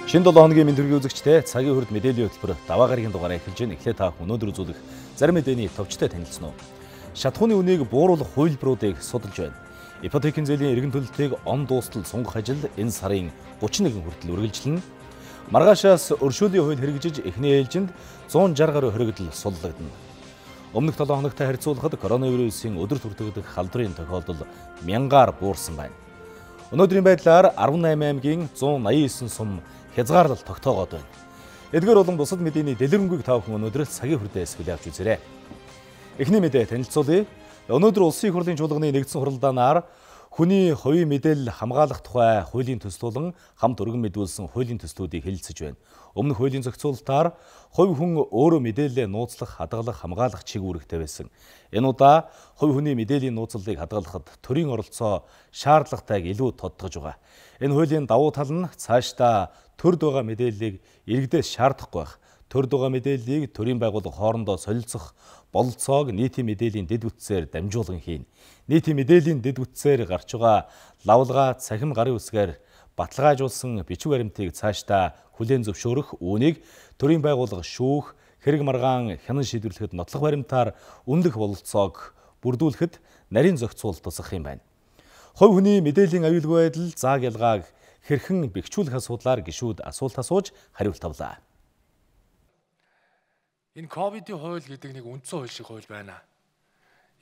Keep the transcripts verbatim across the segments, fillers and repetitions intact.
Шинэ долоо хоногийн мэд төргийн үзэгчтэй цагийн хүрд мэдээллийн хөтөлбөр даваа гарагийн дугаараа эхэлж байна. Эхлээд та өнөөдөр үзүүлэх зарим мэдээний товчтой танилцсан уу? Шатхууны үнийг бууруулах хувилбаруудыг судалж байна. Ипотекийн зээлийн эргэн төлөлтийг он дуустал сунгах ажил энэ сарын гучин нэгэн хүртэл үргэлжилнэ. Маргаашаас өршөөлийн хууль хэрэгжиж эхний ээлжинд зуун жарга гаруй хоригдол суллагдана. Өмнөх долоо хоногтой харьцуулахад коронавирусын өдөр бүртгэгдэх халдварын тохиолдол мянгаар буурсан байна. Өнөөдрийн байдлаар арван найман аймгийн зуун наян есөн сум хязгаарлал тогтоогоод байна. Эдгээр болон бусад мэдээний дэлгэрэнгүй та бүхэн өнөөдөр цагийн хүрдээс хүлээн авч үзээрэй. Эхний мэдээ танилцуулъя. Өнөөдөр Улсын их хурлын чуулганы нэгдсэн хуралдаанаар хүний хувийн мэдээлэл хамгаалах тухай хуулийн төслөлн хамт өргөн мэдүүлсэн хуулийн төслүүдийг хэлэлцэж байна. Өмнөх хуулийн зохицуулалтаар хувь хүн өөрөө мэдээлэлээ нууцлах, хадгалах, хамгаалах чиг үүрэгтэй байсан. Энэ удаа хувь хүний мэдээллийн нууцлалыг хадгалахад төрийн оролцоо шаардлагатайг илүү тодтогж байгаа. Энэ хуулийн давуу тал нь цаашдаа төрд байгаа мэдээллийг иргэдээс шаардахгүй байх. Төрд байгаа мэдээллийг төрийн байгууллага хоорондоо солилцох бололцоог нийтийн мэдээллийн дэд бүтцээр дамжуулан хийн. Нийтийн мэдээллийн дэд бүтцээр гарч байгаа лавлгаа цахим гарын үсгээр баталгаажуулсан бичиг баримтыг цаашдаа хүлээн зөвшөөрөх, үүнийг төрийн байгууллага шүүх, хэрэг маргаан хянан шийдвэрлэхэд нотлох баримтаар үнэлэх бололцоог бүрдүүлэхэд нарийн зохицуул тусах юм байна. Хувь хүний мэдээллийн аюулгүй байдал зааг ялгааг хэрхэн бэхжүүлэх асуудлаар гишүүд асуулт асууж хариулт авлаа. Энэ ковидын хууль гэдэг нэг үндсэн хууль шиг хууль байна.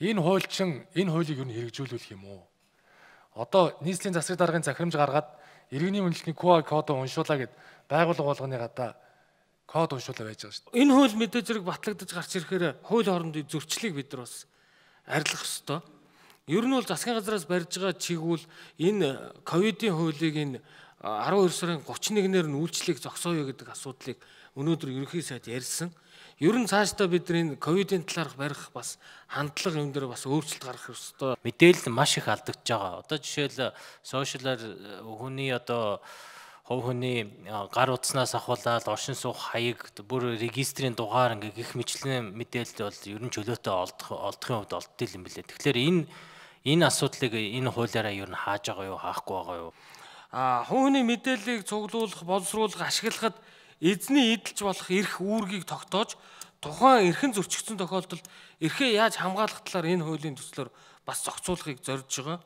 Энэ хууль чин энэ хуулийг юу н хэрэгжүүлүүлэх юм уу? Одоо нийслэлийн засаг даргын захирамж гаргаад иргэний үнэлтний ку ар кодыг уншуулаа гэд байгууллага болгоны гадаа код уншуулаа байж байгаа шүү дээ. Энэ хууль мэдээ зэрэг батлагдаж гарч ирэхээр хууль хоорондын зөрчлийг бид нар бас арилгах ёстой. Ер нь бол засгийн газраас барьж байгаа чигүүл энэ ковидын хуулийг энэ арван хоёр сарын гучин нэгнээр нь үйлчлэх зогсооё гэдэг асуудлыг өнөөдөр ерөнхий сайд ярьсан. Ер нь цаашдаа бид энэ ковидын талаарх барих бас хандлага юм дээр бас өөрчлөлт гаргах ёстой. Мэдээлэл маш их алдагдж байгаа. Одоо жишээл сошиалар хүний одоо хувь хүний гар утаснаас ахуулаад оршин суух хаяг бүр регистрийн дугаар ингээ гих мэтлэн мэдээлэл бол ер нь чөлөөтэй олдох олдохын хувьд олддог юм билээ. Тэгэхээр энэ энэ асуудлыг энэ хуулиараа ер нь хааж байгаа юу, хаахгүй байгаа юу? А хувь хүний мэдээллийг цуглуулах, боловсруулах, ашиглахад эзний эдэлж болох эрх үүргийг тогтоож тухайн эрхэн зөрчигдсөн тохиолдолд эрхээ яаж хамгаалах талаар энэ хуулийн төслөөр бас зохицуулахыг зорж байгаа.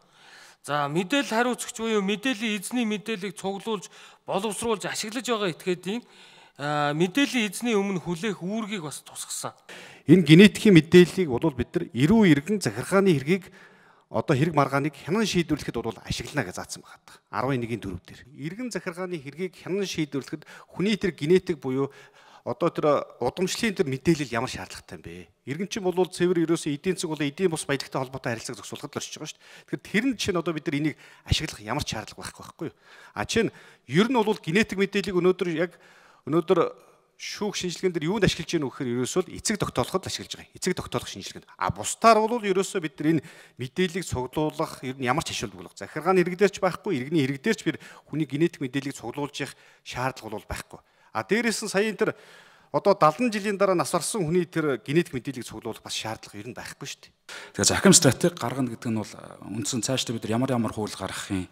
За мэдээлэл хариуцагч буюу мэдээллийн эзний мэдээллийг цуглуулж, боловсруулж, ашиглаж байгаа этгээдийн мэдээллийн эзний өмнө хүлээх үүргийг бас тусгасан. Энэ генетикийн мэдээллийг бол бид нар эрүү иргэн захиргааны хэргийг одоо хэрэг маргааныг хянан шийдвэрлэхэд бол ашиглана гэж заасан байгаа. арван нэгний дөрөв дээр. Иргэн захиргааны хэргийг хянан шийдвэрлэхэд хүний тэр генетик буюу одоо тэр удамшлын тэр мэдээлэл ямар шаардлагатай юм бэ? Иргэн чинь бол цэвэр ерөөсөө эдийн засаг бол эдийн бус баялагтай холбоотой харилцааг зохицуулахад л оршиж байгаа шүү дээ. Тэгэхээр тэр нь чинь одоо бид нар энийг ашиглах ямар ч шаардлага байхгүй байхгүй юу? А чинь ер нь бол генетик мэдээллийг өнөөдөр яг өнөөдөр шүүх шинжилгээнд дэр юунд ашиглаж гэнэ вэ гэхээр ерөөсөө эцэг тогтоолоход ашиглаж байгаа. Эцэг тогтоолох шинжилгээнд. А бусдаар бол ерөөсөө бид нар энэ мэдээллийг цуглуулах ер нь ямар ч ашиглалт болох. Захиргааны иргэдээр ч байхгүй, иргэний иргэдээр ч бид хүний генетик мэдээллийг цуглуулж явах шаардлага бол байхгүй. А дээрээс нь сая энэ тэр одоо далдан жилийн дараа нас барсан хүний тэр генетик мэдээллийг цуглуулах бас шаардлага ер нь байхгүй шүү дээ. Тэгээ захим стратеги гаргана гэдэг нь бол үндсэн цаашдаа бид нар ямар ямар хууль гаргах юм,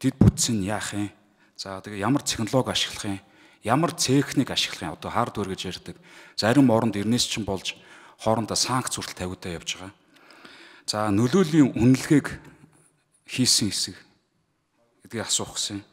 дэд бүтцийг яах юм. За тэгээ ямар технологи ашиглах юм, ямар техник ашиглах юм. Одоо хардвер гэж ярьдаг. Зарим оронд эрнээс чинь болж хоорондоо санкц хүртэл тавигдаа явж байгаа. За нөлөөлийн үнэлгээг хийсэн хэсэг гэдгийг асуух гэсэн.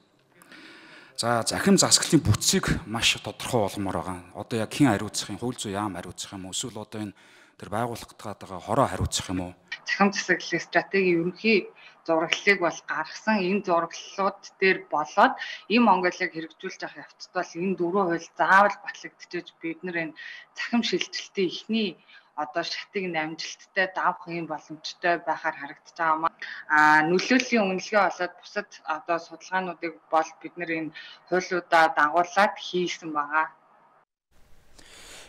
За захим засаглалын бүтцийг маш тодорхой болгомоор байгаа. Одоо яг хэн хариуцах юм, хууль зүйн яам хариуцах юм уу, эсвэл одоо энэ тэр байгуулах гэдэг хороо хариуцах юм уу? Захим засаглалын стратегийн ерөнхий зураглалыг бол гаргасан. Энэ зураглалууд дээр болоод ийм Монголыг хэрэгжүүлж явах явцад бол энэ дөрвөн хууль заавал батлагдчихж бид нар энэ захим шилжилтийн эхний одоо шатыг амжилттай давах юм боломжтой байхаар харагдаж байгаа. А нөлөөллийн үнэлгээ болоод бусад одоо судалгаануудыг бол бид нар энэ хуулиудаа дагуулад хийсэн байгаа.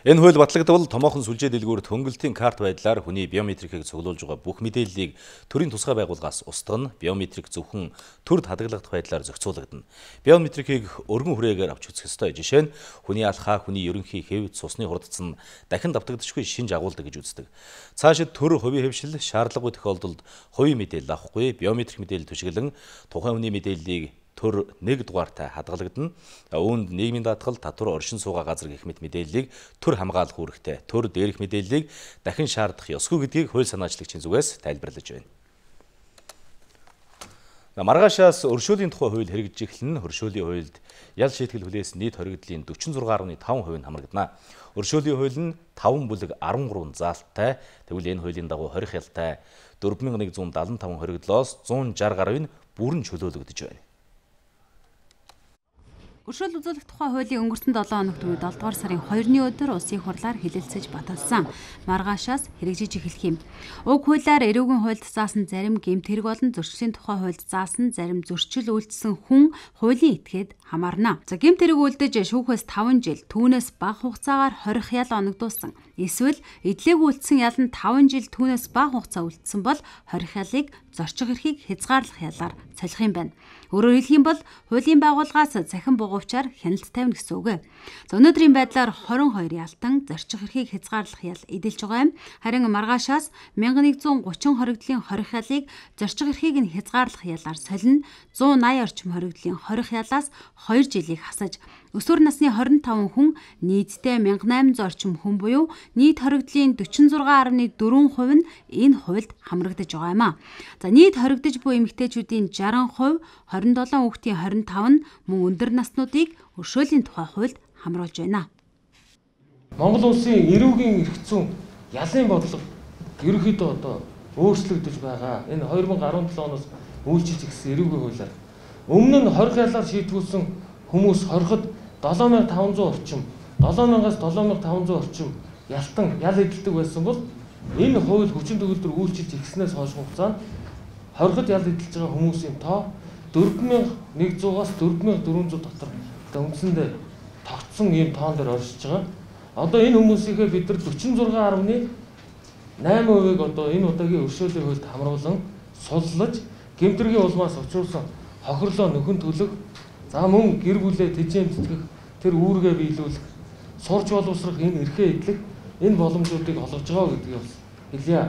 Энэ хууль батлагдвал томоохон сүлжээ дэлгүүрт хөнгөлтийн карт байдлаар хүний биометрикийг цуглуулж байгаа бүх мэдээллийг төрийн тусгай байгууллагаас устгана. Биометрик зөвхөн төрд хадгалагдах байдлаар зохицуулагдана. Биометрикийг өргөн хүрээгээр авч үзэх ёстой. Жишээ нь хүний алхаа, хүний ерөнхий хэв, цусны хурдц нь дахин давтагдчихгүй шинж агуулдаг гэж үздэг. Цаашид төр хувийн хэвшил шаардлагагүй тохиолдолд хувийн мэдээлэл авахгүй, биометрик мэдээлэл түшиглэн тухайн хүний мэдээллийг төр нэг дугаартай хадгалагдана. Үүнд нийгмийн даатгал, татвар, оршин суугаа газар гэх мэт мэдээллийг төр хамгаалах үүрэгтэй. Төр дээрх мэдээллийг дахин шаардах ёсгүй гэдгийг хууль санаачлагчийн зүгээс тайлбарлаж байна. Маргаашаас өршөөлийн тухай хууль хэрэгжиж эхэлнэ. Өршөөлийн хуульд ял шийтгэл хүлээсэн нийт хоригдлын forty-six point five percent нь хамрагдана. Өршөөлийн хууль нь five бүлэг thirteen заалттай. Тэгвэл энэ хуулийн дагуу хорих ялтай four thousand one hundred seventy-five хоригдлоос one sixty гаруй нь бүрэн чөлөөлөгдөж байна. Өршөөл үзүүлэх тухай хуулийн өнгөрсөн seven хоногт үед seven дугаар сарын second-ны өдөр улсын хурлаар хэлэлцэж баталсан. Маргаашаас хэрэгжиж эхэлх юм. Уг хуулиар эрүүгийн хуульд заасан зарим гэмт хэрэг болон зөрчлийн тухай хуульд заасан зарим зөрчил үйлдсэн хүн хуулийн этгээд хамаарна. За гэмт хэрэг үйлдэж шүүхээс five жил, түүнээс бага хугацаагаар хорих ял оногдуулсан. Эсвэл эдлэг үйлдсэн ял нь five жил, түүнээс бага хугацаа үйлдсэн бол хорих ялыг зорчих эрхийг хязгаарлах ялаар солих юм байна. Өөрөөр хэлэх юм бол хуулийн байгууллагаас цахим бугуйчаар хяналт тавина гэсэн үг. За өнөөдрийн байдлаар twenty-two ялтан зорчих эрхийг хязгаарлах ял эдэлж байгаа юм. Харин маргаашаас one thousand one thirty хоригдлын хорих ялыг зорчих эрхийг нь хязгаарлах ялаар солино. one eighty орчим хоригдлын хорих ялаас two жилийг хасаж өсвөр насны twenty-five хүн нийтдээ eighteen hundred орчим хүн буюу нийт хоригдлын forty-six point four percent нь энэ хуульд хамрагдаж байгаа юм а. За нийт хоригдож буй эмэгтэйчүүдийн sixty percent, twenty-seven хүүхдийн twenty-five нь мөн өндөр наснуудыг өршөөлийн тухай хуульд хамруулж байна. Монгол улсын эрүүгийн эрх зүйн ялын бодлого ерөнхийдөө одоо өөрчлөгдөж байгаа. Энэ twenty seventeen оноос үйлчилж ирсэн эрүүгийн хуулиар өмнө нь хорих ялаар шийтгүүлсэн хүмүүс хориход seven thousand five hundred орчим, seven thousand-аас seven thousand five hundred орчим ялтан ял эдэлдэг байсан бол энэ хууль хүчин төгөлдөр үйлчилж ирснээс хойш хугацаанд хориход ял эдэлж байгаа хүмүүсийн тоо four thousand one hundred-аас four thousand four hundred дотор үндсэндээ тогтсон ийм тоон дээр оршиж байгаа. Одоо энэ хүмүүсийнхээ бид нар forty-six point eight percent-ийг одоо энэ удаагийн өршөөлийн хуульд хамруулан суллаж гэмтэргийн улмаас учруулсан хохирлоо нөхөн төлөх, за мөн гэр бүлээ тэжээн тэтгэх, тэр үүргээ биелүүлэх, сурч боловсрох энэ эрхээ эдлэх энэ боломжуудыг олгож байгаа гэдгийг бас хэлье.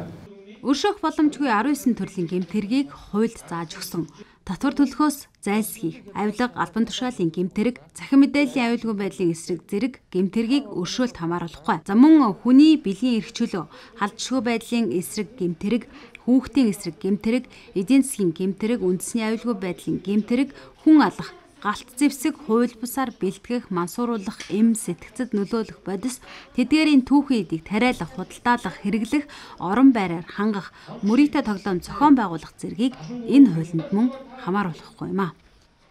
Өршөөх боломжгүй nineteen төрлийн гэмт хэргийг хуульд зааж өгсөн. Татвар төлөхөөс зайлсхийх, авилга, албан тушаалын гэмт хэрэг, захин мэдээллийн аюулгүй байдлын эсрэг зэрэг гэмт хэргийг өршөөлт хамааруулахгүй. За мөн хүний бэлгийн эрх чөлөө, халдшгүй байдлын эсрэг гэмт хэрэг, хүүхдийн эсрэг гэмт хэрэг, эдийн засгийн гэмт хэрэг, үндэсний аюулгүй байдлын гэмт хэрэг, хүн алах, галт зэвсэг, хууль бусаар бэлтгэх, мансууруулах, эм сэтгцэд нөлөөлөх бодис, тэдгээрийн түүхий эдийг тариалах, худалдаалах, хэрэглэх, орон байраар хангах, мөрийтэй тоглоом зохион байгуулах зэргийг энэ хуулинд мөн хамааруулахгүй юм а.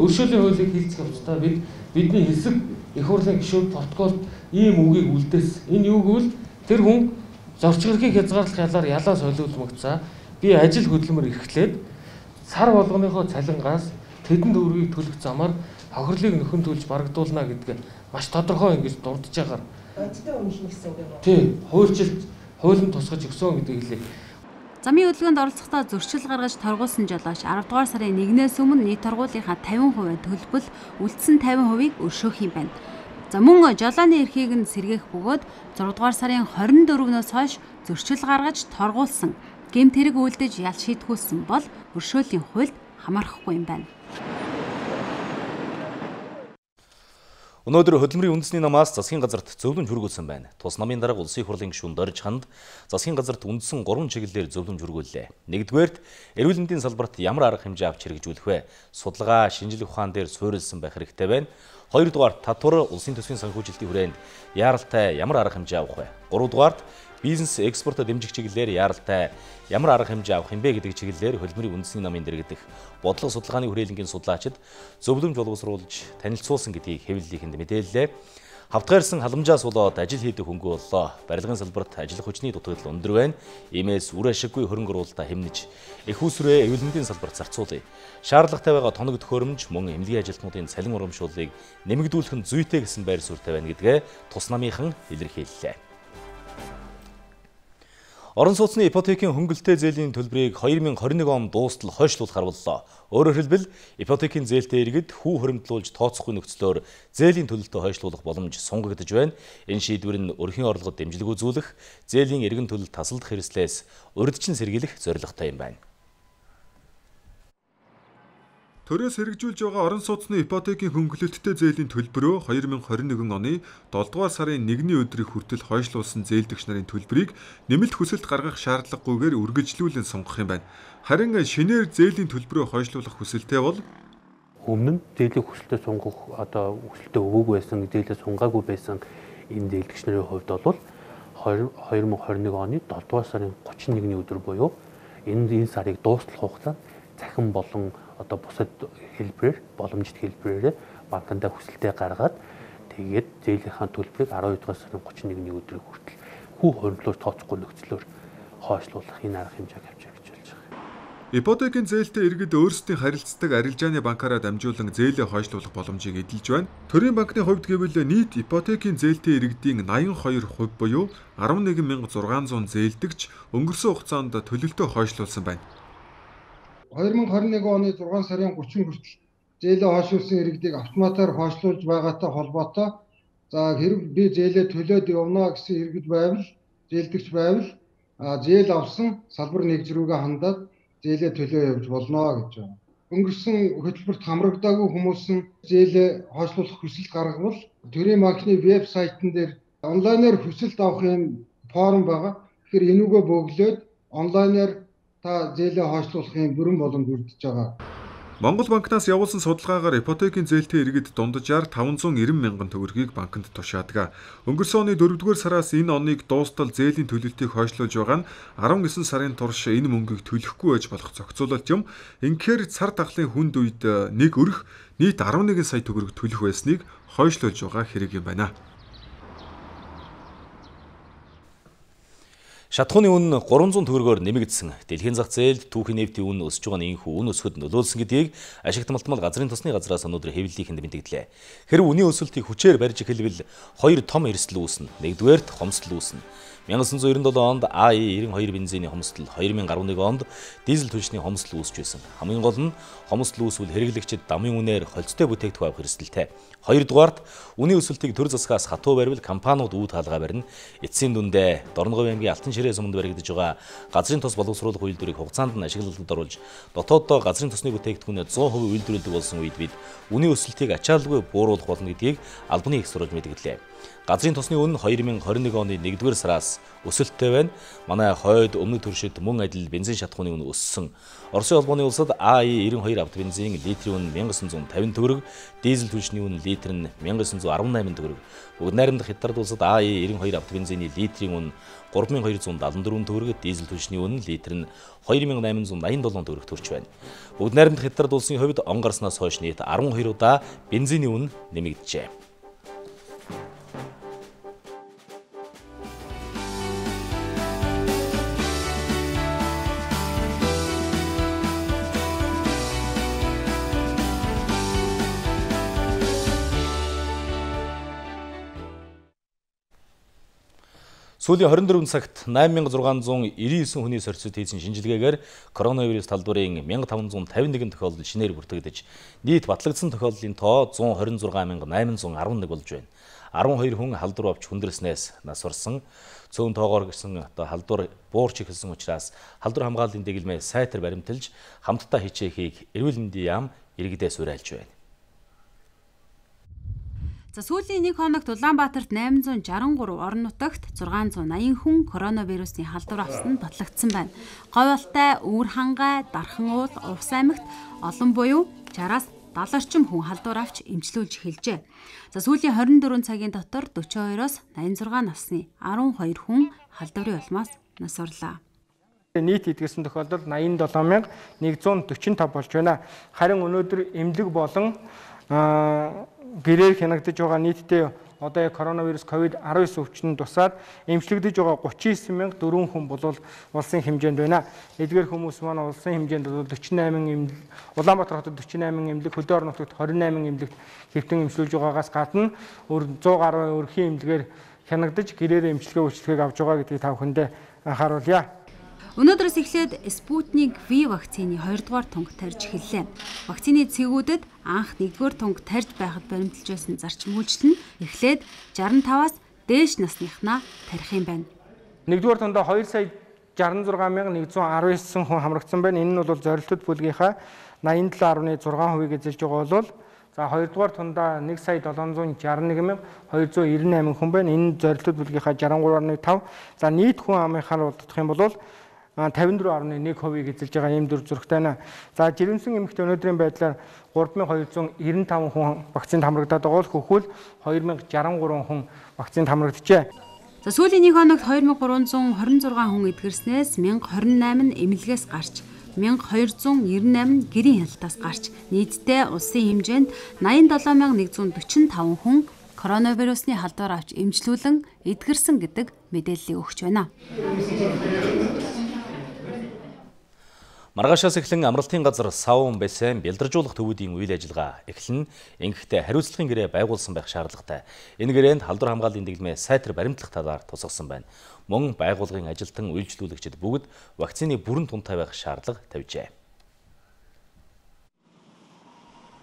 Өршөөлийн хуулийг хэлцэх явцдаа бид бидний хэсэг их хурлын гишүүд протоколд ийм үгийг үлдээсэн. Энэ юу гэвэл тэр хүн зорчих эрхийг хязгаарлах ялаар ялаа солиулмагцаа би ажил хөдөлмөр эрхлээд сар болгоныхоо цалингаас тэдэнд өргийг төлөх замаар хохирлыг нөхөн төлж барагдуулна гэдгээ маш тодорхой ингэж дурдж байгаа. Бодтой үнэлнэ гэсэн үг юм уу? Тийм, хуульчилт хуулийн тусгаж өгсөн гэдэг хэлээ. Замын хөдөлгөөнд оролцохдоо зөрчил гаргаж торгуулсан жолооч ten дугаар сарын one-ээс өмнө нийт торгуулийнхаа fifty percent төлбөл үлдсэн fifty percent-ийг өршөөх юм байна. За мөн жолооны эрхийг нь сэргээх бөгөөд six дугаар сарын twenty-four-ноос хойш зөрчил гаргаж торгуулсан гэмт хэрэг үйлдэж ял шийтгүүлсэн бол өршөөлийн хуульд хамаарахгүй юм байна. Өнөөдөр хөдөлмөрийн үндэсний намаас засгийн газарт зөвлөмж хүргүүлсэн байна. Тус намын дарга улсын хурлын гишүүн Дорж ханд засгийн газарт үндсэн гурван чиглэлээр зөвлөмж хүргүүллээ. Нэгдүгээрт эрүүл мэндийн салбарт ямар арга хэмжээ авч хэрэгжүүлэх вэ? Судалгаа, шинжилгээ ухаан дээр суурилсан байх хэрэгтэй байна. Хоёрдугаар татвар улсын төсвийн санхүүжилтийн хүрээнд яаралтай ямар арга хэмжээ авах вэ? Гуравдугаарт бизнес экспортод дэмжих чиглэлээр яаралтай ямар арга хэмжээ авах юм бэ гэдэг чиглэлээр хөдөлмөрийн үндэсний намын дэргэдэх бодлого судалгааны хүрээлэнгийн судлаачид зөвлөмж боловсруулж танилцуулсан гэдгийг хэвлэлийнхэнд мэдээллээ. Хавтгаарсан халамжаас болоод ажил хийдэг хөнгөө боллоо. Барилгын салбарт ажиллах хүчний дутагдал өндөр байна. Иймээс үр ашиггүй хөрөнгө оруулалтаа хэмнэж их усрээ эрүүл мэндийн салбарт зарцуулъя. Шаардлагатай байгаа тоног төхөөрөмж мөн эмнэлгийн ажилтнуудын цалин урамшууллыг нэмэгдүүлэх нь зүйтэй гэсэн байр суурьтай байна гэдгээ тус намынхан илэрхийллээ. Орон сууцны ипотекийн хөнгөлтэй зээлийн төлбөрийг twenty twenty-one он дуустал хойшлуулахар боллоо. Өөрөөр хэлбэл ипотекийн зээлтэй иргэд хүү хуримтлуулж тооцохгүй нөхцлөөр зээлийн төлөлтөө хойшлуулах боломж сунгагдж байна. Энэ шийдвэр нь өрхийн орлогод дэмжлэг үзүүлэх, зээлийн эргэн төлөлт тасалдах хэрэгслээс урьдчилан сэргийлэх зорилготой юм байна. Төрөөс хэрэгжүүлж байгаа орон сууцны ипотекийн хөнгөлөлттэй зээлийн төлбөрөө хоёр мянга хорин нэгэн оны долдугаар сарын нэгний өдрийг хүртэл хойшлуулсан зээлдэгч нарын төлбөрийг нэмэлт хүсэлт гаргах шаардлагагүйгээр үргэлжлүүлэн сонгох юм байна. Харин шинээр зээлийн төлбөрөө хойшлуулах хүсэлтэй бол өмнө нь зээлийн хүсэлтэд сунгах одоо хүсэлтэд өгөөгүй байсан, зээлээ сунгаагүй байсан энэ зээлдэгч нарын хувьд бол хоёр мянга хорин нэг оны долдугаар сарын гучин нэгний өдөр буюу энэ энэ сарыг дуустал хугацаанд захин болон одоо бусад хэлбэрээр боломжит хэлбэрээр банкндаа хүсэлтээ гаргаад тэгээд зээлийнхаа төлбөрийг арван дугаар сарын гучин нэгний өдрийг хүртэл хүү хоригдлоор тооцохгүй нөхцлөөр хойшлуулах энэ арга хэмжээг авч явж болж байгаа. Ипотекийн зээлтэй иргэд өөрсдийн харилцдаг арилжааны банкаараа дамжуулан зээлээ хойшлуулах боломжийг эдэлж байна. Төрийн банкны хувьд гэвэл нийт ипотекийн зээлтэй иргэдийн найман хоёр хувь буюу арван нэгэн мянга зургаан зуун зээлдэгч өнгөрсөн хугацаанд төлөлтөө хойшлуулсан байна. хоёр мянга хорин нэг оны зургаан сарын гучин хүртэл зээлээ хойшлуулсан иргэдийг автоматар хойшлуулж байгаатай холбоотой за хэрэг би зээлээ төлөөд явна гэсэн иргэд байвал зээлдэгч байвал зээл авсан салбар нэгж рүүгээ хандаад зээлээ төлөө явж болно гэж байна. Өнгөрсөн хөтөлбөрт хамрагдаагүй хүмүүс нь зээлээ хойшлуулах хүсэлт гаргавал төрийн банкны вебсайтн дээр онлайнаар хүсэлт авах юм форм байгаа. Тэгэхээр энүүгээ бөглөөд онлайнаар та зээлээ хойшлуулахын бүрэн боломж бүрдэж байгаа. Монгол банкнаас явуулсан судалгаагаар ипотекийн зээлтэй иргэд дунджаар таван зуун нэрвэн мянган төгрөгийг банкнд тушаадаг. Өнгөрсөн оны дөрөвдүгээр сараас энэ оныг дуустал зээлийн төлөлтийг хойшлуулж байгаа нь арван девять сарын турш энэ мөнгийг төлөхгүй байж болох зохицуулалт юм. Инхээр цар тахлын хүнд үед нэг өрх нийт арван нэгэн сая төгрөг төлөх байсныг хойшлуулж байгаа хэрэг юм байна. Шатхууны үн гурван зуун төгрөгөөр нэмэгдсэн. Дэлхийн зах зээлд түүхийн нефтийн үн өсөж байгаа нь энэхүү үн өсөхөд нөлөөлсөн гэдгийг ашигт малтмал газрын тосны газраас өнөөдөр хэвлэлийнхэнд мэдгдлээ. Хэрв үнийн өсөлтийг хүчээр барьж эхэлвэл хоёр том эрсдэл үүснэ. Нэгдүгээрт хомсдол үүснэ. 천구၉칠 онд А И девяносто два бензиний хомсдол, two thousand eleven онд дизель түлшний хомсдол үүсч байсан. Хамгийн гол нь хомсдол үүсвэл хэрэглэгчид дамын үнээр холцтой бүтээгдэхүүн авах эрсдэлтэй. Хоёрдугаарт үнийн өсөлтийг төр засгаас хатуу барьвал компаниуд үүд хаалгаа барина. Эцсийн дүндээ Дорноговь аймгийн Алтан ширээ суманд баригдаж байгаа газрын тос боловсруулах үйлдвэрийг хугацаанд нь ашиглалтад оруулж дотооддоо газрын тосны бүтээгдэхүүнээ one hundred percent үйлдвэрлэдэг болсон үед бид үнийн өсөлтийг ачааллгүй бууруулах болно гэдгийг албаны их сурвалж мэдгэлээ. Газрын тосны үн two thousand twenty-one оны нэгдүгээр сараас өсөлттэй байна. Манай хойд өмнөд төршид мөн адил бензин шатхууны үн өссөн. Оросын холбооны улсад А И ninety-two авто бензин литрийн үн nineteen fifty төгрөг, дизель түлшний үн литр нь nineteen eighteen төгрөг. Бүгд найрамдах Хятад улсад А И ninety-two авто бензиний литрийн үн three thousand two hundred seventy-four төгрөг, дизель түлшний үн литр нь two thousand eight hundred ninety-seven төгрөг төрж байна. Бүгд найрамдах Хятад улсын хувьд он гарснаас хойш нийт twelve удаа бензиний үн нэмэгджээ. Сүүлийн twenty-four цагт nine thousand six hundred ninety-nine хүний сорьцод хийсэн шинжилгээгээр коронавирус талбарын one thousand five hundred fifty-one тохиолдол шинээр бүртгэгдэж, нийт батлагдсан тохиолдлын тоо one hundred twenty-six thousand nine hundred eleven болж байна. twelve хүн халдвар авч хүндрэлснээс нас орсон. Цөөн тоогоор гисэн одоо халдвар буурч эхэлсэн учраас халдвар хамгааллын дэглэмээ сайтар баримталж хамтдаа хичээхийг эрүүл мэндийн яам иргэдээс уриалж байна. За сүүлийн нэг хоногт Улаанбаатарт eight hundred sixty-three орон нутагт six hundred eighty хүн коронавирусын халдвар авсан нь батлагдсан байна. Говьалтай, Өвөр хангай, Дархан уул, Увс аймагт олон буюу sixty-аас seventy орчим хүн халдвар авч эмчилүүлж эхэлжээ. За сүүлийн twenty-four цагийн дотор forty-two-оос eighty-six насны twelve хүн халдварын улмаас нас орлоо. Нийт эдгэсэн тохиолдол eighty-seven thousand one hundred forty-five болж байна. Харин өнөөдөр эмнэлэг болон гэрээр хянагдаж байгаа нийтдээ одоо коронавирус ковид nineteen өвчин тусаад эмчлэгдэж байгаа thirty-nine thousand four хүн бол улсын хэмжээнд байна. Эдгээр хүмүүс маань улсын хэмжээнд forty-eight Улаанбаатар хотод forty-eight эмнэлэг, хөдөө орон нутагт twenty-eight эмнэлэгт хэвтэн эмчилүүлж байгаагаас гадна one hundred гаруй өрхийн эмнэлгээр хянагдаж гэрээр эмчилгээ үйлчлэгийг авч байгаа гэдгийг та бүхэндээ анхааруулъя. Өнөөдрөөс эхлээд Спутник V вакцины two дугаар тунг тарьж эхэллээ. Вакцины цэгүүдэд анх one дугаар тунг тарьж байхад баримталж байсан зарчим үйлчлэл нь эхлээд sixty-five-аас дээш насныхнаа тарих юм байна. one дугаар тундаа two сая sixty-six мянган one hundred nineteen хүн хамрагдсан байна. Энэ нь бол зорилттой бүлгийнхаа найман долоо гаруй зургаан хувийг эзэлж байгаа бол за хоёрдугаар тундаа нэг сая долоон зуун шарна нэг мянга хоёр зуун ирнэ восемь хүн байна. Энэ зорилтууд бүлгийнхаа шарна гурав дасна тав. За нийт хүн амынхаар бодох юм бол тавин дөрөв дасна нэг хувийг эзэлж байгаа ийм дүр зурагтай байна. За жирэмсэн эмэгтэй өнөөдрийн байдлаар гурав мянган хоёр зуун девяносто таван хүн вакцинд хамрагдаад байгаа бол хөхүүл хоёр мянга шестьдесят три хүн вакцинд хамрагджээ. За сүүлийн нэг хоногт хоёр мянга гурван зуун хорин зургаан хүн эдгэрснээс мянга хорин восемь эмнэлгээс гарч мянга хоёр зуун девяносто восемь гэрийн хяналтаас гарч нийтдээ улсын хэмжээнд найман долоо мянга нэг зуун дөрвөн таван хүн коронавирусны халдвар авч эмчлүүлэн эдгэрсэн гэдэг мэдээллийг өгч байна. Маргаашаас эхлэн амралтын газар савн бассейн бэлдэржүүлэх төвүүдийн үйл ажиллагаа эхлэн ингэхдээ хариуцлагын гэрээ байгуулсан байх шаардлагатай. Энэ гэрээнд халдвар хамгааллын дэглэмээ сайтар баримтлах талаар тусгасан байна. Мөн байгууллагын ажилтан үйлчлүүлэгчид бүгд вакцины бүрэн тунтай байх шаардлага тавьжээ.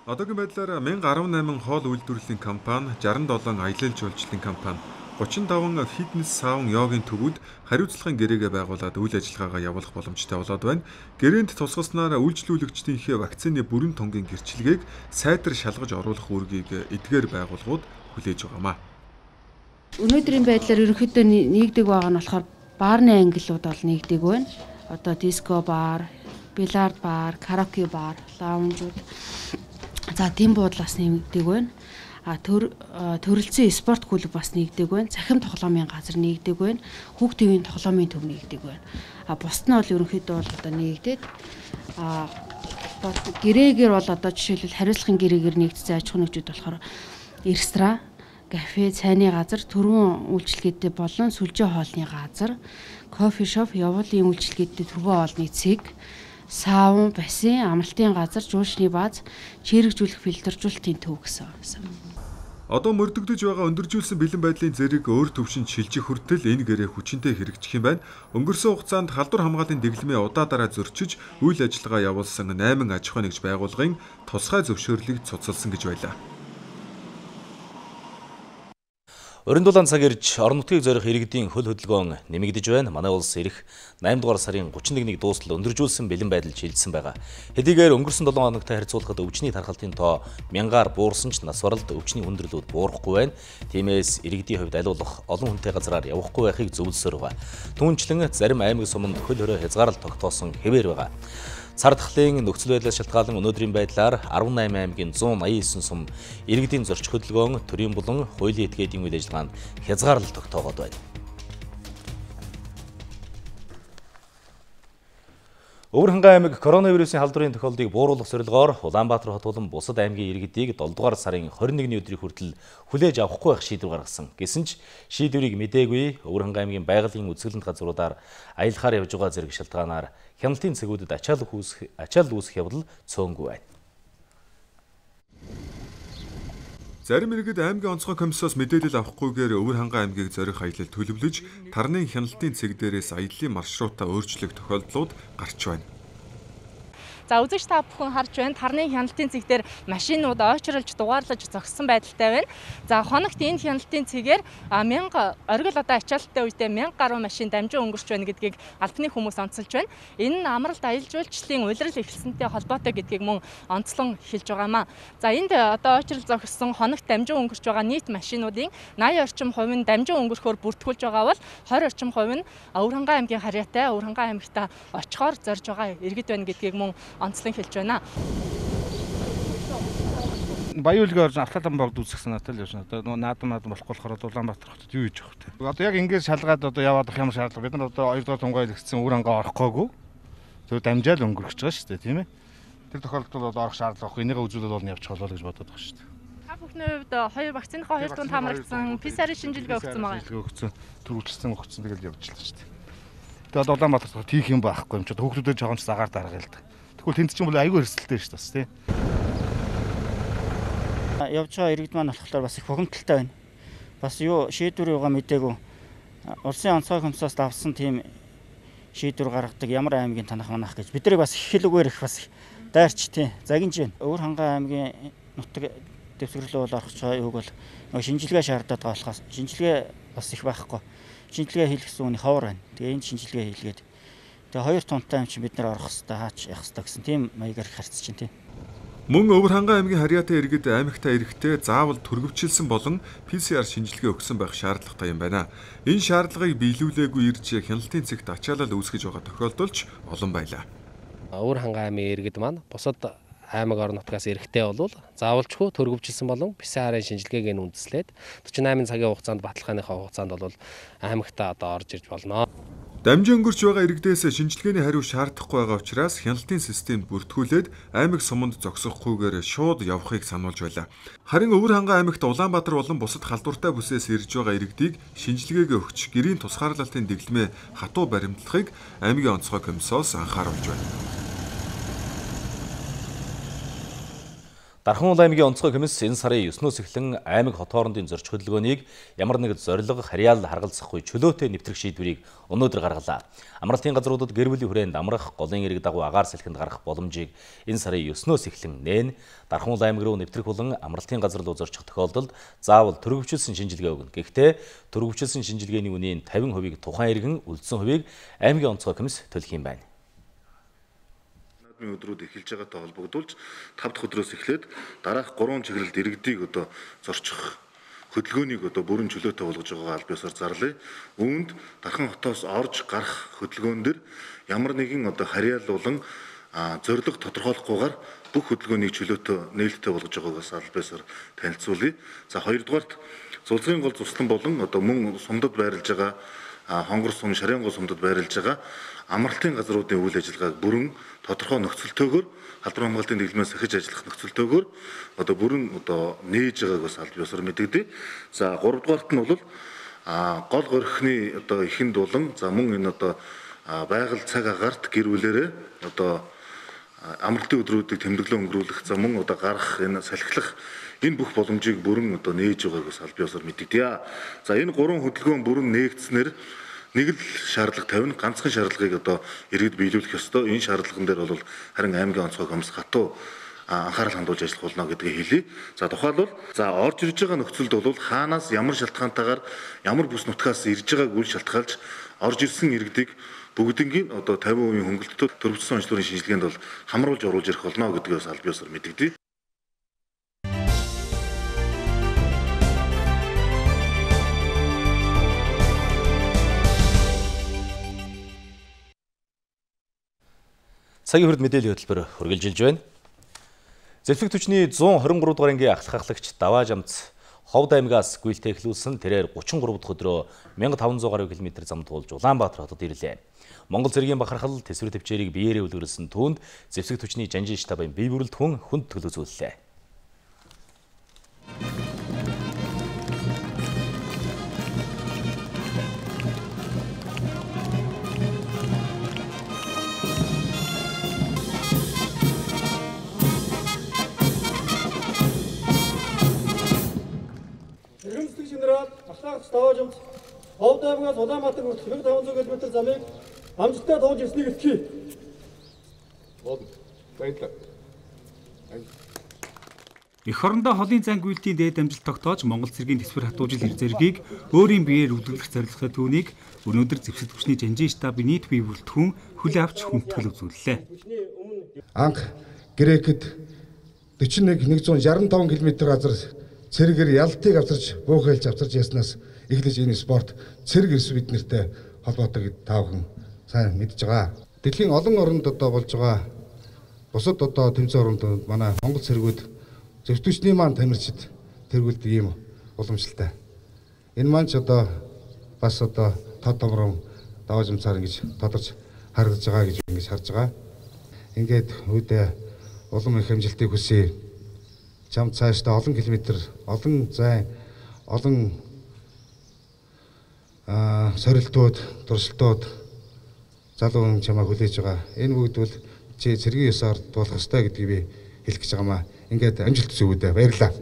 Одоогийн байдлаар мянга арван найман хоол үйлдвэрлэлийн компани, шестьдесят долоо аялал жуулчлалын компани, гучин таван фитнес саун йогийн төвүүд хариуцлагын гэрээгээ байгуулад үйл ажиллагаагаа явуулах боломжтой болоод байна. Гэрээнд тусгаснаар үйлчлүүлэгчдийнхээ вакцины бүрэн тунгийн гэрчлэгийг сайтар шалгаж оруулах үүргийг эдгээр байгууллагууд хүлээж байгаамаа. Өнөөдрийн байдлаар ерөнхийдөө нэгдэг байгаа нь болохоор баарны ангиллууд бол нэгдэг байна. Одоо диско бар, бильярд бар, караоке бар, лаунжууд. За тийм буудлаас нэгдэг байна. А төр төрөлцсөн спорт клуб бас нэгдэг байна. Цахим тоглоомын газар нэгдэг байна. Хүүхд төвийн тоглоомын төв нэгдэг байна. А бусд нь бол ерөнхийдөө бол одоо нэгдээд а гэрээгээр бол одоо жишээлбэл хариуцлагын гэрээгээр нэгдсэн аж ахуй нэгжүүд болохоор ресторан, кафе, цайны газар, төрийн үйлчилгээтэй болон сүлжээ хоолны газар, кофе шоп, явуулын үйлчилгээтэй төргөө хоолны цэг, саун, бассейн, амралтын газар, жуулчны бааз, чирэгжүүлэх фильтржүүлэлтийн төв гэсэн. Одоо мөрдөгдөж байгаа өндөржүүлсэн бэлэн байдлын зэрэг өөр төвшөнд шилжих хүртэл энэ гэрээ хүчинтэй хэрэгжих юм байна. Өнгөрсөн хугацаанд халдвар хамгааллын дэглэмээ удаа дараа зөрчиж үйл ажиллагаа явуулсан найман аж ахуй нэгж байгууллагын тусгай зөвшөөрлийг цуцалсан гэж байлаа. Орон дулаан цаг ирж орон нутгийг зорих иргэдийн хөл хөдөлгөөн нэмэгдэж байна. Манай улс ирэх найман дугаар сарын гучин нэгнийг дуустал өндөржүүлсэн бэлэн байдал шилжсэн байгаа. Хэдийгээр өнгөрсөн долоо хоногтой харьцуулахад өвчний тархалтын тоо мянгаар буурсан ч нас баралд өвчний хүндрэлүүд буурахгүй байна. Тиймээс иргэдийн хувьд алуулах олон хүнтэй газраар явахгүй байхыг зөвлөсөөр байгаа. Түүнчлэн зарим аймаг суманд хөл хорой хязгаарлалт тогтоосон хэвээр байгаа. Цар тахлын нөхцөл байдлаас шалтгаалan өнөөдрийн байдлаар арван найман аймгийн зуун аян девять сум иргэдийн зорчих хөдөлгөөн, төрийн болон хуулийн этгээдийн үйл ажиллагаанд хязгаарлалт тогтоогоод байна. Өвөрхангай аймаг коронавирусын халдварын тохиолдлыг бууруулах зорилгоор Улаанбаатар хот болон бусад аймгийн иргэдийг долоо дугаар сарын хорин нэгний өдрийн хүртэл хүлээж авахгүй байх шийдвэр гаргасан. Гэсэн ч шийдвэрийг мэдээгүй Өвөрхангай аймгийн байгалийн үзэсгэлэнт газруудаар аялахаар явж байгаа зэрэг шалтгаанаар хяналтын цэгүүдэд ачаалал үүсэх ачаалал үүсэх явдал цөөнгүй байна. Зарим иргэд аймгийн онцгой комиссоос мэдээлэл авахгүйгээр Өвөрхангай аймгийг зорих аялал төлөвлөж, тарны хяналтын цэг дээрээс аяллаа маршрутаа өөрчлөх тохиолдлууд гарч байна. За үзэгч та бүхэн харж байна. Тарны хяналтын цэг дээр машинууд ойчролж дугаарлаж зогссон байдалтай байна. За хоногт энэ хяналтын цэгээр мянга оргил одоо ачаалттай үедээ мянга гаруй машин дамжин өнгөрч байна гэдгийг албаны хүмүүс онцолж байна. Энэ нь амралт аялал жуулчлалын улирал эхэлсэнтэй холбоотой гэдгийг мөн онцлон хэлж байгаамаа. За энд одоо ойчрол зогссон хоногт дамжин өнгөрч байгаа нийт машинуудын восемьдесят орчим хувь нь дамжин өнгөрөхөөр бүртгүүлж байгаа бол двадцать орчим хувь нь Өвөрхангай аймгийн харьяатай Өвөрхангай аймагта очихоор зорж байгаа иргэд байна гэдгийг мөн онцлон хэлж байна. Баяуулгийн орж автолан богд үүсгэх санаатай л явж байна. Одоо наадам наадам болохгүй болохоор Улаанбаатар хотод юу хийж явах вэ? Одоо яг ингэж шалгаад одоо яваад ах ямар шаардлага. Бид нар одоо хоёр дахь тунгай илгэсэн Өвөрхангай орохгүйгүй. Зөв дамжаал өнгөрөх гэж байгаа шүү дээ, тийм ээ. Тэр тохиолдолд одоо орох шаардлага байхгүй. Энийгээ үзүүлээд бол явчих болоо гэж бодоод байгаа шүү дээ. Та бүхний хувьд хоёр вакциныхаа хоёр дунд хамрагдсан, пэ эс ар шинжилгээ өгсөн байгаа. Шинжилгээ өгсөн, төрүүлсэн өгсөн тэгэл явж лээ шүү дээ. Тэгээд одоо Улаанбаатар хотод тийх юм байхгүй юм чи хүүхдүүдэд жоохон ч загаар дарга л да. Тэгвэл тэнд чинь бол аюул өрсөлдөлтэй шүү дээ, тийм. Явж байгаа иргэд маань болохоор бас их бухимдалтай байна. Бас юу шийдвэр юугаа мэдээгүй. Улсын онцгой комиссоос давсан тийм шийдвэр гаргадаг ямар аймгийн танах манах гэж бидрийг бас их хэлүүгээр их бас дайрч тийм загинж байна. Өвөрхангай аймгийн нутаг дэвсгэрлөө бол орох байгаа юуг бол нөгөө шинжилгээ шаардаад байгаа болохоос шинжилгээ бас их байхгүй. Шинжилгээ хийх гэсэн үний ховор байна. Тэгээ энэ шинжилгээ хийлгээд Тэгээ хоёр тунтай юм чи бид нар орох хэвээр хаач явах хэвээр гэсэн тийм маягаар харьцаж чинь тийм. Мөн Өвөрхангай аймгийн Харьяатай иргэд аймагтаа ирэхдээ заавал түргэвчилсэн болон пэ цэ эр шинжилгээ өгсөн байх шаардлагатай юм байна. Энэ шаардлагыг биелүүлээгүй ирж хяналтын цэгт ачаалал үүсгэж байгаа тохиолдолч олон байлаа. Өвөрхангай аймгийн иргэд маань бусад аймаг орон нутгаас ирэхдээ бол заавалчгүй түргэвчилсэн болон пэ цэ эр-ийн шинжилгээг нь үндэслээд forty eight цагийн хугацаанд баталгааныхаа хугацаанд бол аймагтаа одоо орж ирж болно. Дамжин өнгөрч байгаа иргэдээс шинжилгээний хариу шаардахгүй байгаа учраас хяналтын системд бүртгүүлээд аймаг суманд зогсохгүйгээр шууд явахыг сануулж байлаа. Харин Өвөрхангай аймагт Улаанбаатар болон бусад халдвартай бүсээс ирж байгаа иргэдийг шинжилгээгээ өгч гэрийн тусгаарлалтын дэглэмээ хатуу баримтлахыг аймгийн онцгой комиссоос анхааруулж байна. Дархан аймгийн онцгой комисс энэ сарын девнөөс эхлэн аймаг хот хоорондын зорчих хөдөлгөөнийг ямар нэг зорилго харьяал харгалзахгүй чөлөөтэй нэвтрэх шийдвэрийг өнөөдөр гаргалаа. Амралтын газруудад гэр бүлийн хүрээнд амрах, голын эрэг дагуу агаар салхинд гарах боломжийг энэ сарын девнөөс эхлэн нээн Дархан аймаг руу нэвтрэх болон амралтын газар руу зорчих тохиолдолд заавал түргэвчилсэн шинжилгээ өгнө. Гэхдээ түргэвчилсэн шинжилгээний үнийн fifty percent-ийг тухайн иргэн үлдсэн хувийг аймгийн онцгой комисс төлөх юм байна. Өдрүүд эхэлж байгаатай холбогдуулж five дахь өдрөөс эхлээд дараах three чиглэлд иргэдийг одоо зорчих хөдөлгөөнийг одоо бүрэн чөлөөтэй болгож байгаа аль биесээр зарлая. Үүнд Дархан хотоос орж гарах хөдөлгөөн дэр ямар нэгэн одоо харьяал болон зорилго тодорхойлохгүйгээр бүх хөдөлгөөнийг чөлөөтэй нээлттэй болгож байгаагаас аль биесээр танилцуулъя. За хоёрдугаарт Зулцгийн гол цуслан болон одоо мөн сумдад байрлаж байгаа хонгор сум, шарын гол сумдад байрлаж байгаа амралтын газруудын үйл ажиллагааг бүрэн тодорхой нөхцөлтөөгөр халдвар хамгаалтын дэглэмээс сахиж ажиллах нөхцөлтөөгөр одоо бүрэн одоо нээж байгааг бас аль биесээр мэдэгдээ. За гурав дугаарт нь бол гол горхны одоо ихэнд болон за мөн энэ одоо байгаль цаг агаарт гэр бүлэрээ одоо амралтын өдрүүдийг тэмдэглэн өнгөрүүлэх за мөн одоо гарах энэ салхилах энэ бүх боломжийг бүрэн одоо нээж байгааг бас аль биесээр мэдэгдээ. За энэ гурван хөдөлгөөн бүрэн нээгдснээр нэг л шаардлага тавина, ганцхан шаардлагыг одоо иргэд биелүүлэх ёстой. Энэ шаардлаган дээр бол харин аймгийн онцгой комисс хатуу анхаарал хандуулж ажиллах болно гэдгийг хэлье. За тухайлбал за орж ирж байгаа нөхцөлд бол хаанаас ямар шалтгаантайгаар ямар бүс нутгаас ирж байгааг үл шалтгаалж орж ирсэн иргэдийг бүгднийг одоо fifty percent хөнгөлөлтөд төрөвчсөн онцлогын шинжилгээнд бол хамруулж оруулж ирэх болно гэдгээс аль биесээр мэдэгдээ. Цагийн хүрд мэдээллийн хөтөлбөр хүргэлжилж байна. Зэлфэг түвшний one twenty-three дугаар ангийн ахлах ахлагч Даваа Жамц Ховд аймгаас гүйлтэй эхлүүлсэн тэрээр thirty-three дахь өдрөө fifteen hundred гаруй километр зам туулж Улаанбаатар хотод ирлээ. Монгол цэргийн бахархал тэсвэр төвчээрийг биеэрээ үлгэрсэн түүнд зэвсэг түвшний жанжин штабын бие бүрэлдэхүүн хүнд төлөвлөжүүллээ. Даваа Жамц Ховд аймгаас Улаанбаатар хүртэл fifteen hundred километр замыг амжилттай туулж ирснийг илтгэе. Баярлалаа. Эх орондоо холын зан гүйлтийн дээд амжилт тогтоож Монгол цэргийн тэсвэр хатуужил хэр зэргийг өөрийн биеэр үлдүүлэх зорилготой түүнийг өнөөдөр зэвсэг түвшний жанжин штабын нийт бие бүрэлдэхүүн хүлээн авч хүндэтгэл үзүүллээ. Анх Грекэд forty-one one sixty-five км газар цэргээр ялтыг авчирч буухайлж авчирч яснаас эхлэж энэ спорт цэрэг эрс бид нартэй холбоотой гэд таавхан сайн мэдж байгаа. Дэлхийн олон оронд одоо болж байгаа бусад одоо тэмцээн оронд манай Монгол цэргүүд зөвтөчний маань тамирчид тэргүүлдэг ийм уламжлалтай. Энэ маань ч одоо бас одоо тод томрон Даваа Жамцаар ингэж тодорч харагдаж байгаа гэж ингэж харж байгаа. Ингээд үүдээ улам их амжилтыг хүсье. Чам цаашдаа олон километр, олон зай, олон аа сорилтууд, туршилтууд залуу чамаа хүлээж байгаа. Энэ бүгд бол чи цэргийн ёсоор дуулах ёстой гэдгийг би хэлэх гэж байгаамаа. Ингээд амжилт хүсье. Баярлалаа.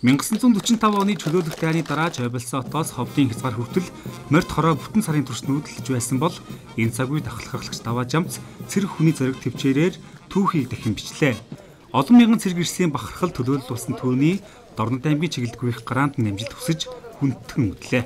nineteen forty-five оны чөлөөлөх дайны дараа Жобелсотоос Ховдын хязгаар хүртэл морьт хороо бүтэн сарын турш нүүдэлж байсан бол энэ цаг үед ахлах ахлагч Даваа Жамц цэрэг хүний зориг төвчээрээр түүхийг дахин бичлээ. Олон мянган цэрэг ирсийн бахархал төлөөлөл болсон түүний Дорнод аймгийн чиглэлд гүйх гараанд нь амжилт хүсэж хүндэтгэн үтлээ.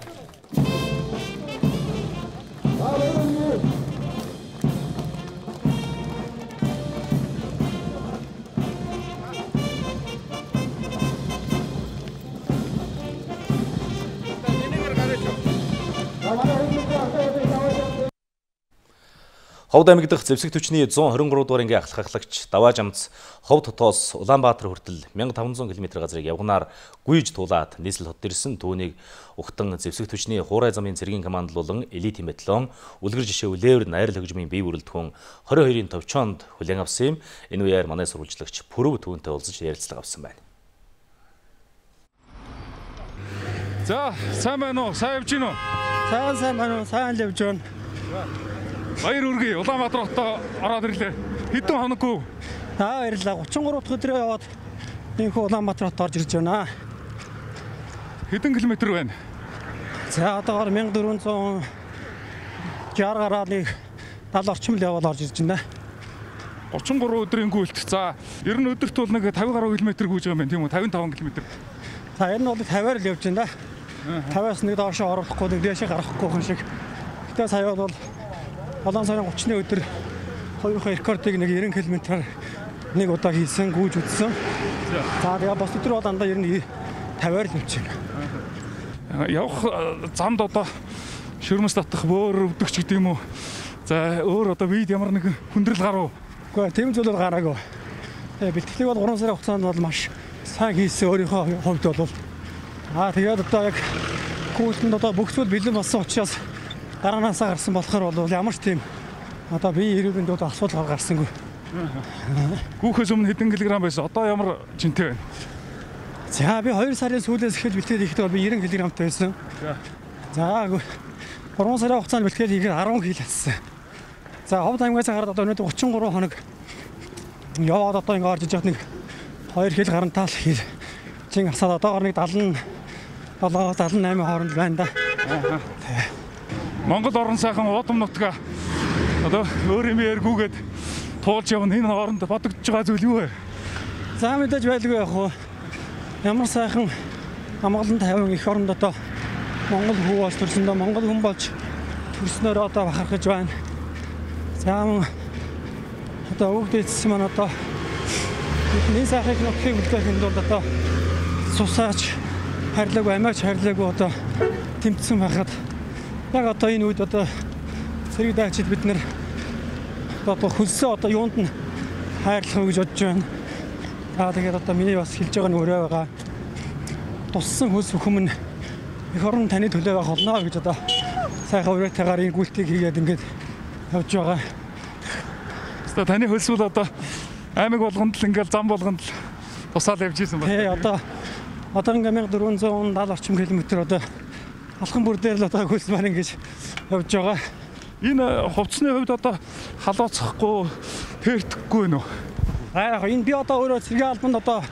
Ховд аймаг дахь зэвсэг түвшний зуун хорин гурав дугаар ангийн ахлах ахлагч Даваа Жамц Ховд хотоос Улаанбаатар хүртэл мянга таван зуун км газрыг явганаар гүйж туулаад нийслэл хот ирсэн түүнийг ухтан зэвсэг түвшний хуурай замын цэргийн командлуулан элитийн батальон үлгэр жишээ үлээвэр найрал хөгжмийн бие бүрэлдэхүүн двадцать хоёрын товчоонд хүлээн авсан юм. Энэ үеэр манай сурвалжлагч Пүрэв түүнтэй уулзаж ярилцлага авсан байна. За, сайн байна уу? Сайн явж гин үү? Сайн сайн байна уу? Сайн л явж байна. Баяр үргээ Улаанбаатар хотоо ороод ирлээ. Хэдэн хоноггүй? Аа баярлалаа. тридцать три дахь өдрөө яваад энэ Улаанбаатар хот орж ирж байна. Хэдэн километр байна? За одоогоор мянга дөрвөн зуун шестьдесят гараад нэг далайн орчим л яваад орж ирж байна. тридцать три өдрийн гүйлт. За, ер нь өдөрт бол нэг пятьдесят гаруй километр гүйж байгаа юм тийм үү? пятьдесят пять километр. За, энэ нь бол пятьдесят л явж байна. пятьдесят-аас нэг доошоо оруулахгүй, нэг дээшээ гарахгүй хүн шиг. Гэтэ сая бол Улаан сарын тридцатны өдөр хоёрын рекордыг нэг девяносто км-аар нэг удаа хийсэн, гүйж үтсэн. За тэгээ бос өдөр бол дандаа ер нь пятьдесят л явж байна. Явах замд одоо шүрмэс татах бөөр өвдөгч гэдэг юм уу? За өөр одоо бид ямар нэгэн хүндрэл гарав? Үгүй тийм зүйл бол гараагүй. Тэгээ бэлтгэлийг бол гурван сарын хугацаанд бол маш сайн хийсэн өөрийнхөө хувьд бол. Аа тэгээд одоо яг гүйцэнд одоо бүх зүйл бэлэн болсон учраас дараанаасаа гарсан болохоор бол ямар ч тийм одоо бие эрүүл мэндийн асуудал гарсангүй. Гүүхээс өмнө хэдэн килограмм байсан? Одоо ямар жинтэй байна? За би хоёр сарын сүүлээс эхэлж бэлтгэл хийхдээ би девяносто килограммтай байсан. За гурван сарын хугацаанд бэлтгэл хийгээд ten кг ассан. За Ховд аймгаас хараад одоо өнөөдөр тридцать три хоног яваад одоо ингэ орж иж яхад нэг two кг гарантаал хий. Чин асаад одоогоор нэг seventy seven seventy-eight хооронд байна да. Монгол орон сайхан удам нутгаа одоо өөр юм яргүйгээд туулж явна. Энэ хооронд бодогдож байгаа зүйл юу вэ? За мэдээж байлгүй яг хуу. Ямар сайхан амгалан тавин их оронд одоо Монгол хүү болж төрсөндөө Монгол хүн болж төрснөөр одоо бахархаж байна. За одоо өгдөөцсөн маань одоо бидний сайхыг нөхрийг үлдэхэд бол одоо сусаач харьлаагүй амиач харьлаагүй одоо тэмцсэн байхад яг одоо энэ үед одоо цэрэг даачид бид нэр одоо хөлсөө одоо юунд нь хайрлах гэж бодож байна. Аа тэгээд одоо миний бас хэлж байгаа нь өөрөө байгаа. Туссан хөлс бүхэн их орон таны төлөө байх болно гэж одоо сайхан өрөөтэйгээр энэ гүйлтийг хийгээд ингээд явж байгаа. Өстө таны хөлс бол одоо аймаг болгонд л ингээд зам болгонд л тусаал явж исэн байна. Тий одоо одоо ингээд fourteen seventy орчим километр одоо алхан бүр дээр л одоо хөлс маань ингэж явж байгаа. Энэ хувцсны хувьд одоо халууцахгүй тэртгэхгүй нөө. Аа яг энэ би одоо өөрөө цэргийн албанд одоо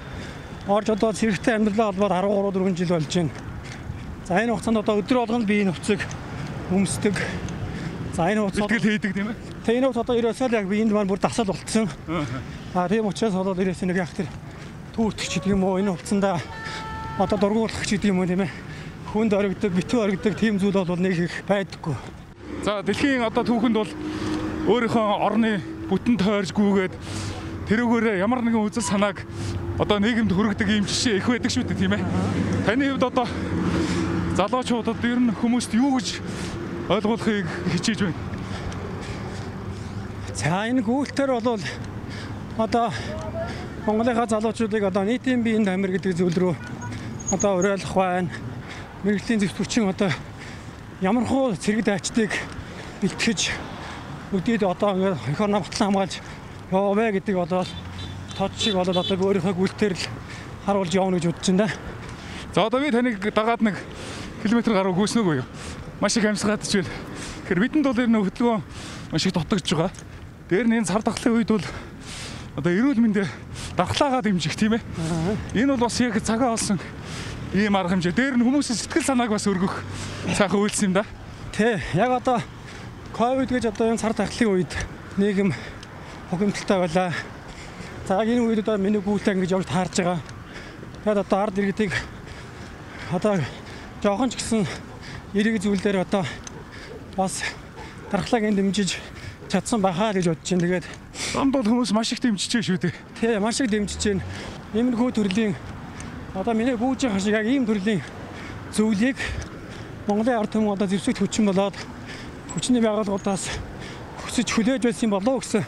орж одоо цэрэгтэй амьдралаа холбоод thirteen four жил болж байна. За энэ хугацаанд одоо өдөр болгоно би энэ хувцсыг өмсдөг. За энэ хувцас бэлтгэл хийдэг тийм ээ. Тэгээ энэ хувцас одоо ерөөсөө яг би энд маань бүр дасал болтсон. Аа тийм учраас одоо ерөөсөө нэг яг тэр түүртгч гэдэг юм уу энэ хувцсандаа одоо дургуулах гэдэг юм уу тийм ээ. Хүнд оригддаг, битүү оригддаг тийм зүйл бол нэг их байдаггүй. За дэлхийн одоо түүхэнд бол өөрийнхөө орны бүтэн тойрж гүйгээд тэрүүгээр ямар нэгэн үзэл санааг одоо нийгэмд хүргэдэг юм жишээ их байдаг шүү дээ тийм ээ. Таны хувьд одоо залуучуудад ер нь хүмүүст юу гэж ойлгуулахыг хичээж байна? За энэ гүйлтээр бол одоо Монголынхаа залуучуудыг одоо нийтийн биеийн тамир гэдэг зүйл рүү одоо уриалах байна. Мэргэжлийн зөвлөгчийн одоо ямар хуу цэрэг даачдыг бэлтгэж өдөөд одоо ингээд эх орноо батлан хамгаалж яваа гэдэг одоо тод шиг болоод одоо өөрийнхөө гүйлтээр л харуулж явна гэж бодож байна. За одоо би таныг дагаад нэг километр гаруй гүйснэгүй юу? Маш их амьсгаад ч байна. Тэгэхээр бидэнд бол энэ хөдөлгөөн маш их дутагдж байгаа. Дээр нь энэ цар тахлын үед бол одоо эрүүл мэндэ давхлаагаа дэмжих тийм ээ. Энэ бол бас яг цагаа олсон ийм арга хэмжээ. Дээр нь хүмүүсийн сэтгэл санааг бас өргөх сайхан үйлс юм да. Тий, яг одоо ковид гэж одоо энэ цар тахлын үед нийгэм хогимтолтой байлаа. За энэ үед одоо миний гүйлтээ ингэж явж таарж байгаа. Тэгээд одоо ард иргэдийг одоо жоохон ч гэсэн эрэг зүйлээр одоо бас дархлааг энэ дэмжиж чадсан байхаа гэж бодож байна. Тэгээд замд бол хүмүүс маш их дэмжиж шүү дээ. Тий, маш их дэмжиж байна. Иймэрхүү төрлийн одоо миний гүйж байгаа шиг яг ийм төрлийн зүйлийг Монголын ард түмэн одоо зэвсэгт хүчин болоод хүчний байгууллагуудаас хүсэж хүлээж байсан болов гэсэн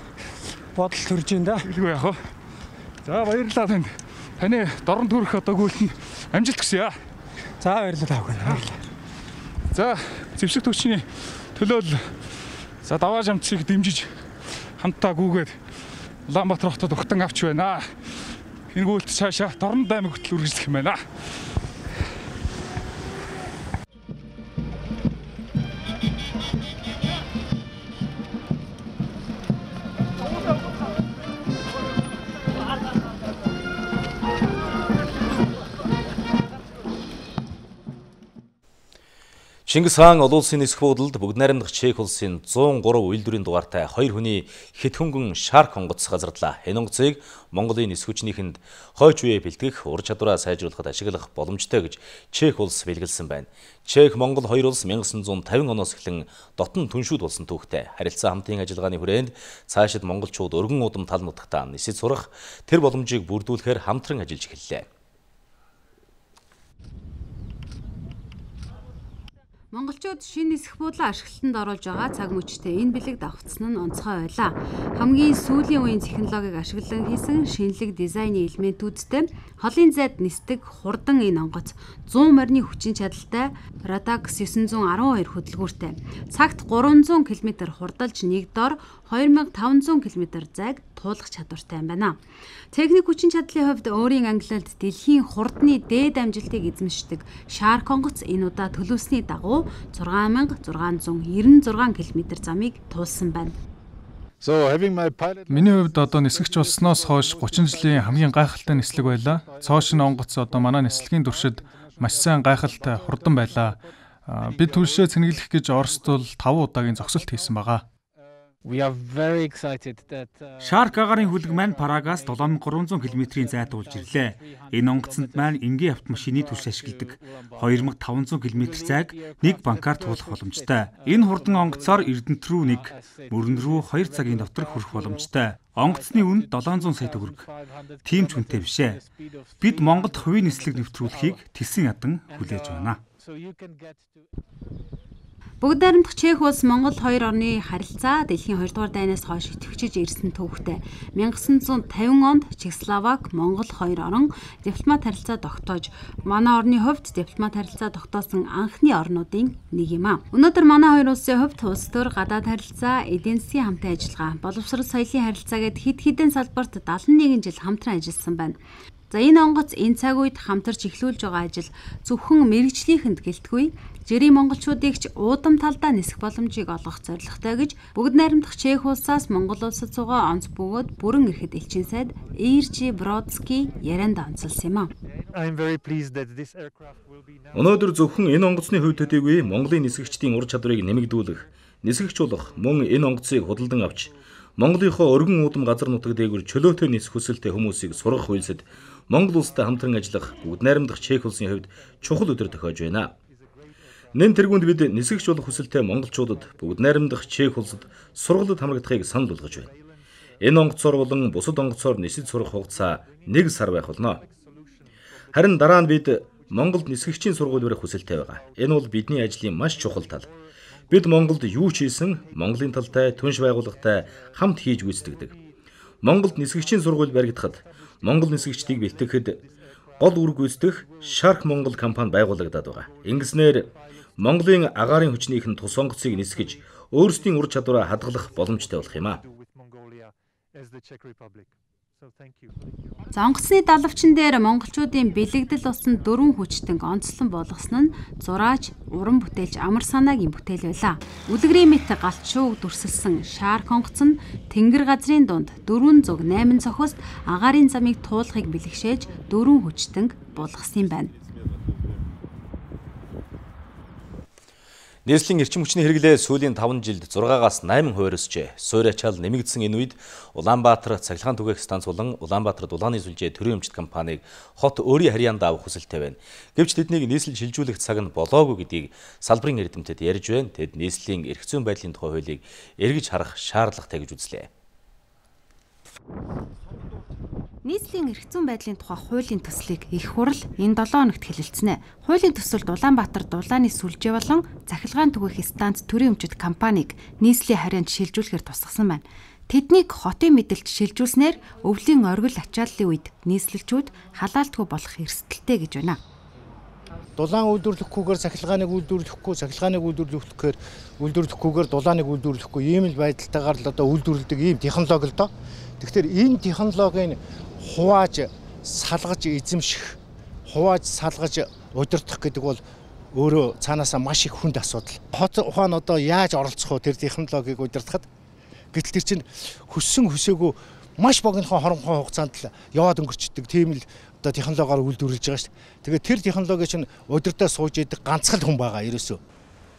бодол төрж байна да. Хэлгүй яах вэ? За баярлалаа танд. Таны дорн төрөх одоо гүйлтэнд амжилт хүсье. За баярлалаа авах. За зэвсэг төвчний төлөөл за даваа жамцыг дэмжиж хамтаа гүгээд Улаанбаатар хотод угтан авч байна. Энэ гүйлт цаашаа Дорн аймаг хөтөл үргэлжлэх юм байна. Чингис хаан олон улсын нисэх буудалд бүгд найрамдах Чех улсын зуун гурав үйлдвэрийн дугаартай хоёр хүний хэт хөнгөн шарк онгоц газарлаа. Энэ онгоцыг Монголын нисэх хүчнийхэнд хойч үе бэлтгэх, ур чадвараа сайжруулахад ашиглах боломжтой гэж Чех улс бэлгэлсэн байна. Чех Монгол хоёр улс мянга санаа зуун тавин оноос эхлэн дотн түншүүд болсон түүхтэй. Харилцаа хамтын ажиллагааны хүрээнд цаашид монголчууд өргөн удам тал нутагтаа нисэж сурах тэр боломжийг бүрдүүлэхээр хамтран ажиллаж эхэллээ. Монголчууд шинэ нисэх буудлаа ашиглалтанд оруулж байгаа цаг мөчтэй энэ бэлэг давхцсан нь онцгой байлаа. Хамгийн сүүлийн үеийн технологиг ашиглан хийсэн шинэлэг дизайны элементүүдтэй холын зайд нисдэг хурдан энэ онгоц зуун морины хүчин чадалтай Radax девять один хоёр хөдөлгүүртэй. Цагт гурван зуун км хурдалж нэг дор two thousand five hundred км зайг туулах чадвартай юм байна. Техник хүчин чадлын хувьд өөрийн ангилалд дэлхийн хурдны дээд амжилтыг эзэмшдэг Shark онгоц энэ удаа төлөвлөсний дагуу six thousand six hundred ninety-six км замыг туулсан байна. Миний хувьд одоо нисгэгч болсноос хойш thirty жилийн хамгийн гайхалтай нислэг байлаа. Цоошин онгоц одоо манай нислэгийн туршид маш сайн гайхалтай хурдан байлаа. Бид түлшээ цэнэглэх гэж Оросд бол five удаагийн зогсолт хийсэн байгаа. Shark агарын хүлэг маань Парагаас seven thousand three hundred км-ийн зайд уулж ирлээ. Энэ онгоцонд маань энгийн автомашины түлш ашигладаг. two thousand five hundred км зайг нэг банкаар туулах боломжтой. Энэ хурдан онгоцоор Эрдэнэт рүү нэг, Мөрөн рүү two цагийн дотор хүрэх боломжтой. Онгоцны үн seven hundred сая төгрөг. Тийм ч үнэтэй биш ээ. Бид Монголд хувийн нислэг нэвтрүүлэхийг тэсэн ядан хүлээж байна. Бүгд найрамдах Чех улс Монгол хоёр орны харилцаа дэлхийн two дугаар дайнаас хойш идэвхжиж ирсэн түүхтэй. nineteen fifty онд Чехословак, Монгол хоёр орон дипломат харилцаа тогтоож, манай орны хувьд дипломат харилцаа тогтоосон анхны орнуудын нэг юм а. Өнөөдөр манай хоёр улсын хувьд улс төр гадаад харилцаа, эдийн засгийн хамтын ажиллагаа, боловсрол соёлын харилцаа гэд хэд хэдэн салбарт seventy-one жил хамтран ажилласан байна. За энэ онгоц энэ цаг үед хамтарч эхлүүлж байгаа ажил зөвхөн мэрэгжлийнхэнд гэлтгүй, жирийн монголчуудыг ч уудам талдаа нисэх боломжийг олгох зорилготой гэж бүгд найрамдах Чех улсаас Монгол улсад суугаа онц бөгөөд бүрэн ирэхэд элчин сайд Иржи Бродский ярианд онцолсон юм а. Өнөөдөр зөвхөн энэ онгоцны хувьд төдийгүй Монголын нисгэгчдийн ур чадварыг нэмэгдүүлэх, нисгэгч болох мөн энэ онгоцыг худалдан авч Монголынхоо өргөн уудам газар нутаг дээгүүр чөлөөтэй нисэх хүсэлтэй хүмүүсийг сургах үйлсэд Монгол улстай хамтран ажиллах бүгд найрамдах Чех улсын хувьд чухал өдөр тохиож байна. Нэн тэргуунд бид нисгэгч болох хүсэлтэй монголчуудад бүгд найрамдах Чех улсад сургалтад хамрагдахыг санал болгож байна. Энэ онгоцоор болон бусад онгоцоор нисэж сурах хугацаа нэг сар байх болно. Харин дараа нь бид Монголд нисгэгчийн сургууль барих хүсэлтэй байгаа. Энэ бол бидний ажлын маш чухал тал. Бид Монголд юу ч хийсэн Монголын талтай түнш байгууллагатай хамт хийж гүйцэтгэдэг. Монголд нисгэгчийн сургууль баригдахад Монгол нисгэгчдийг бэлтгэхэд гол үр гүйцэтгэх Shark Монгол компани байгуулагдаад байгаа. Ингэснээр Монголын агаарын хүчнийхэн тус онгоцыг нисгэж өөрсдийн ур чадвараа хадгалах боломжтой болох юм а. За онгоцны далавчин дээр монголчуудын бэлэгдэл болсон дөрвөн хүчтэнг онцлон болгосон нь зураач, уран бүтээлч Амар санаагийн бүтээл байлаа. Үлгэрийн мэт галчууг дүрсэлсэн Shark онгоц нь тэнгэр газрын дунд four hundred eight цохост агаарын замыг туулахыг бэлэгшээж дөрвөн хүчтэнг булгасан юм байна. Нийслэлийн эрчим хүчний хэрэглээ сүүлийн five жилд six-аас eight хувиар өсжээ. Суурь ачаал нэмэгдсэн энэ үед Улаанбаатар цахилгаан түгээх станц болон Улаанбаатарт улааны сүлжээ төрийн өмчт компанийг хот өөрийн харьяанд авах хүсэлтэй байна. Гэвч тэднийг нийслэл шилжүүлэх цаг нь болоогүй гэдгийг салбарын эрдэмтэд ярьж байна. Тэд нийслэлийн эрх зүйн байдлын тухай хуулийг эргэж харах шаардлагатай гэж үзлээ. Нийслэлийн эрх зүйн байдлын тухай хуулийн төслийг их хурл энэ долоо хоногт хэлэлцэнэ. Хуулийн төсөлд Улаанбаатар дулааны сүлжээ болон цахилгаан түгээх станц төрийн өмчит компанийг нийслэлийн харьяанд шилжүүлэхээр тусгасан байна. Тэднийг хотын мэдээлэлд шилжүүлснээр өвлийн оргил ачааллын үед нийслэлчүүд халаалтгүй болох эрсдэлтэй гэж байна. Дулаан үйлдвэрлэхгүйгээр цахилгааныг үйлдвэрлэхгүй, цахилгааныг үйлдвэрлэхээр үйлдвэрлэхгүйгээр дулааныг үйлдвэрлэхгүй ийм л байдалтайгаар л одоо үйлдвэрлэдэг ийм технологи л доо. Тэгэхээр энэ технологиг хувааж салгаж эзэмших, хувааж салгаж удирдах гэдэг бол өөрөө цаанаасаа маш их хүнд асуудал. Хот ухаан одоо яаж оролцох вэ тэр технологиг удирдахад? Гэтэл тэр чинь хөссөн хөсөөгөө маш богинохон хоромхон хугацаанд л яваад өнгөрчдөг тийм л одоо технологиор үйлдвэрлэж байгаа шүү дээ. Тэгээд тэр технологи чинь удирдаа сууж идэг ганцхан хүн байгаа ерөөсөө.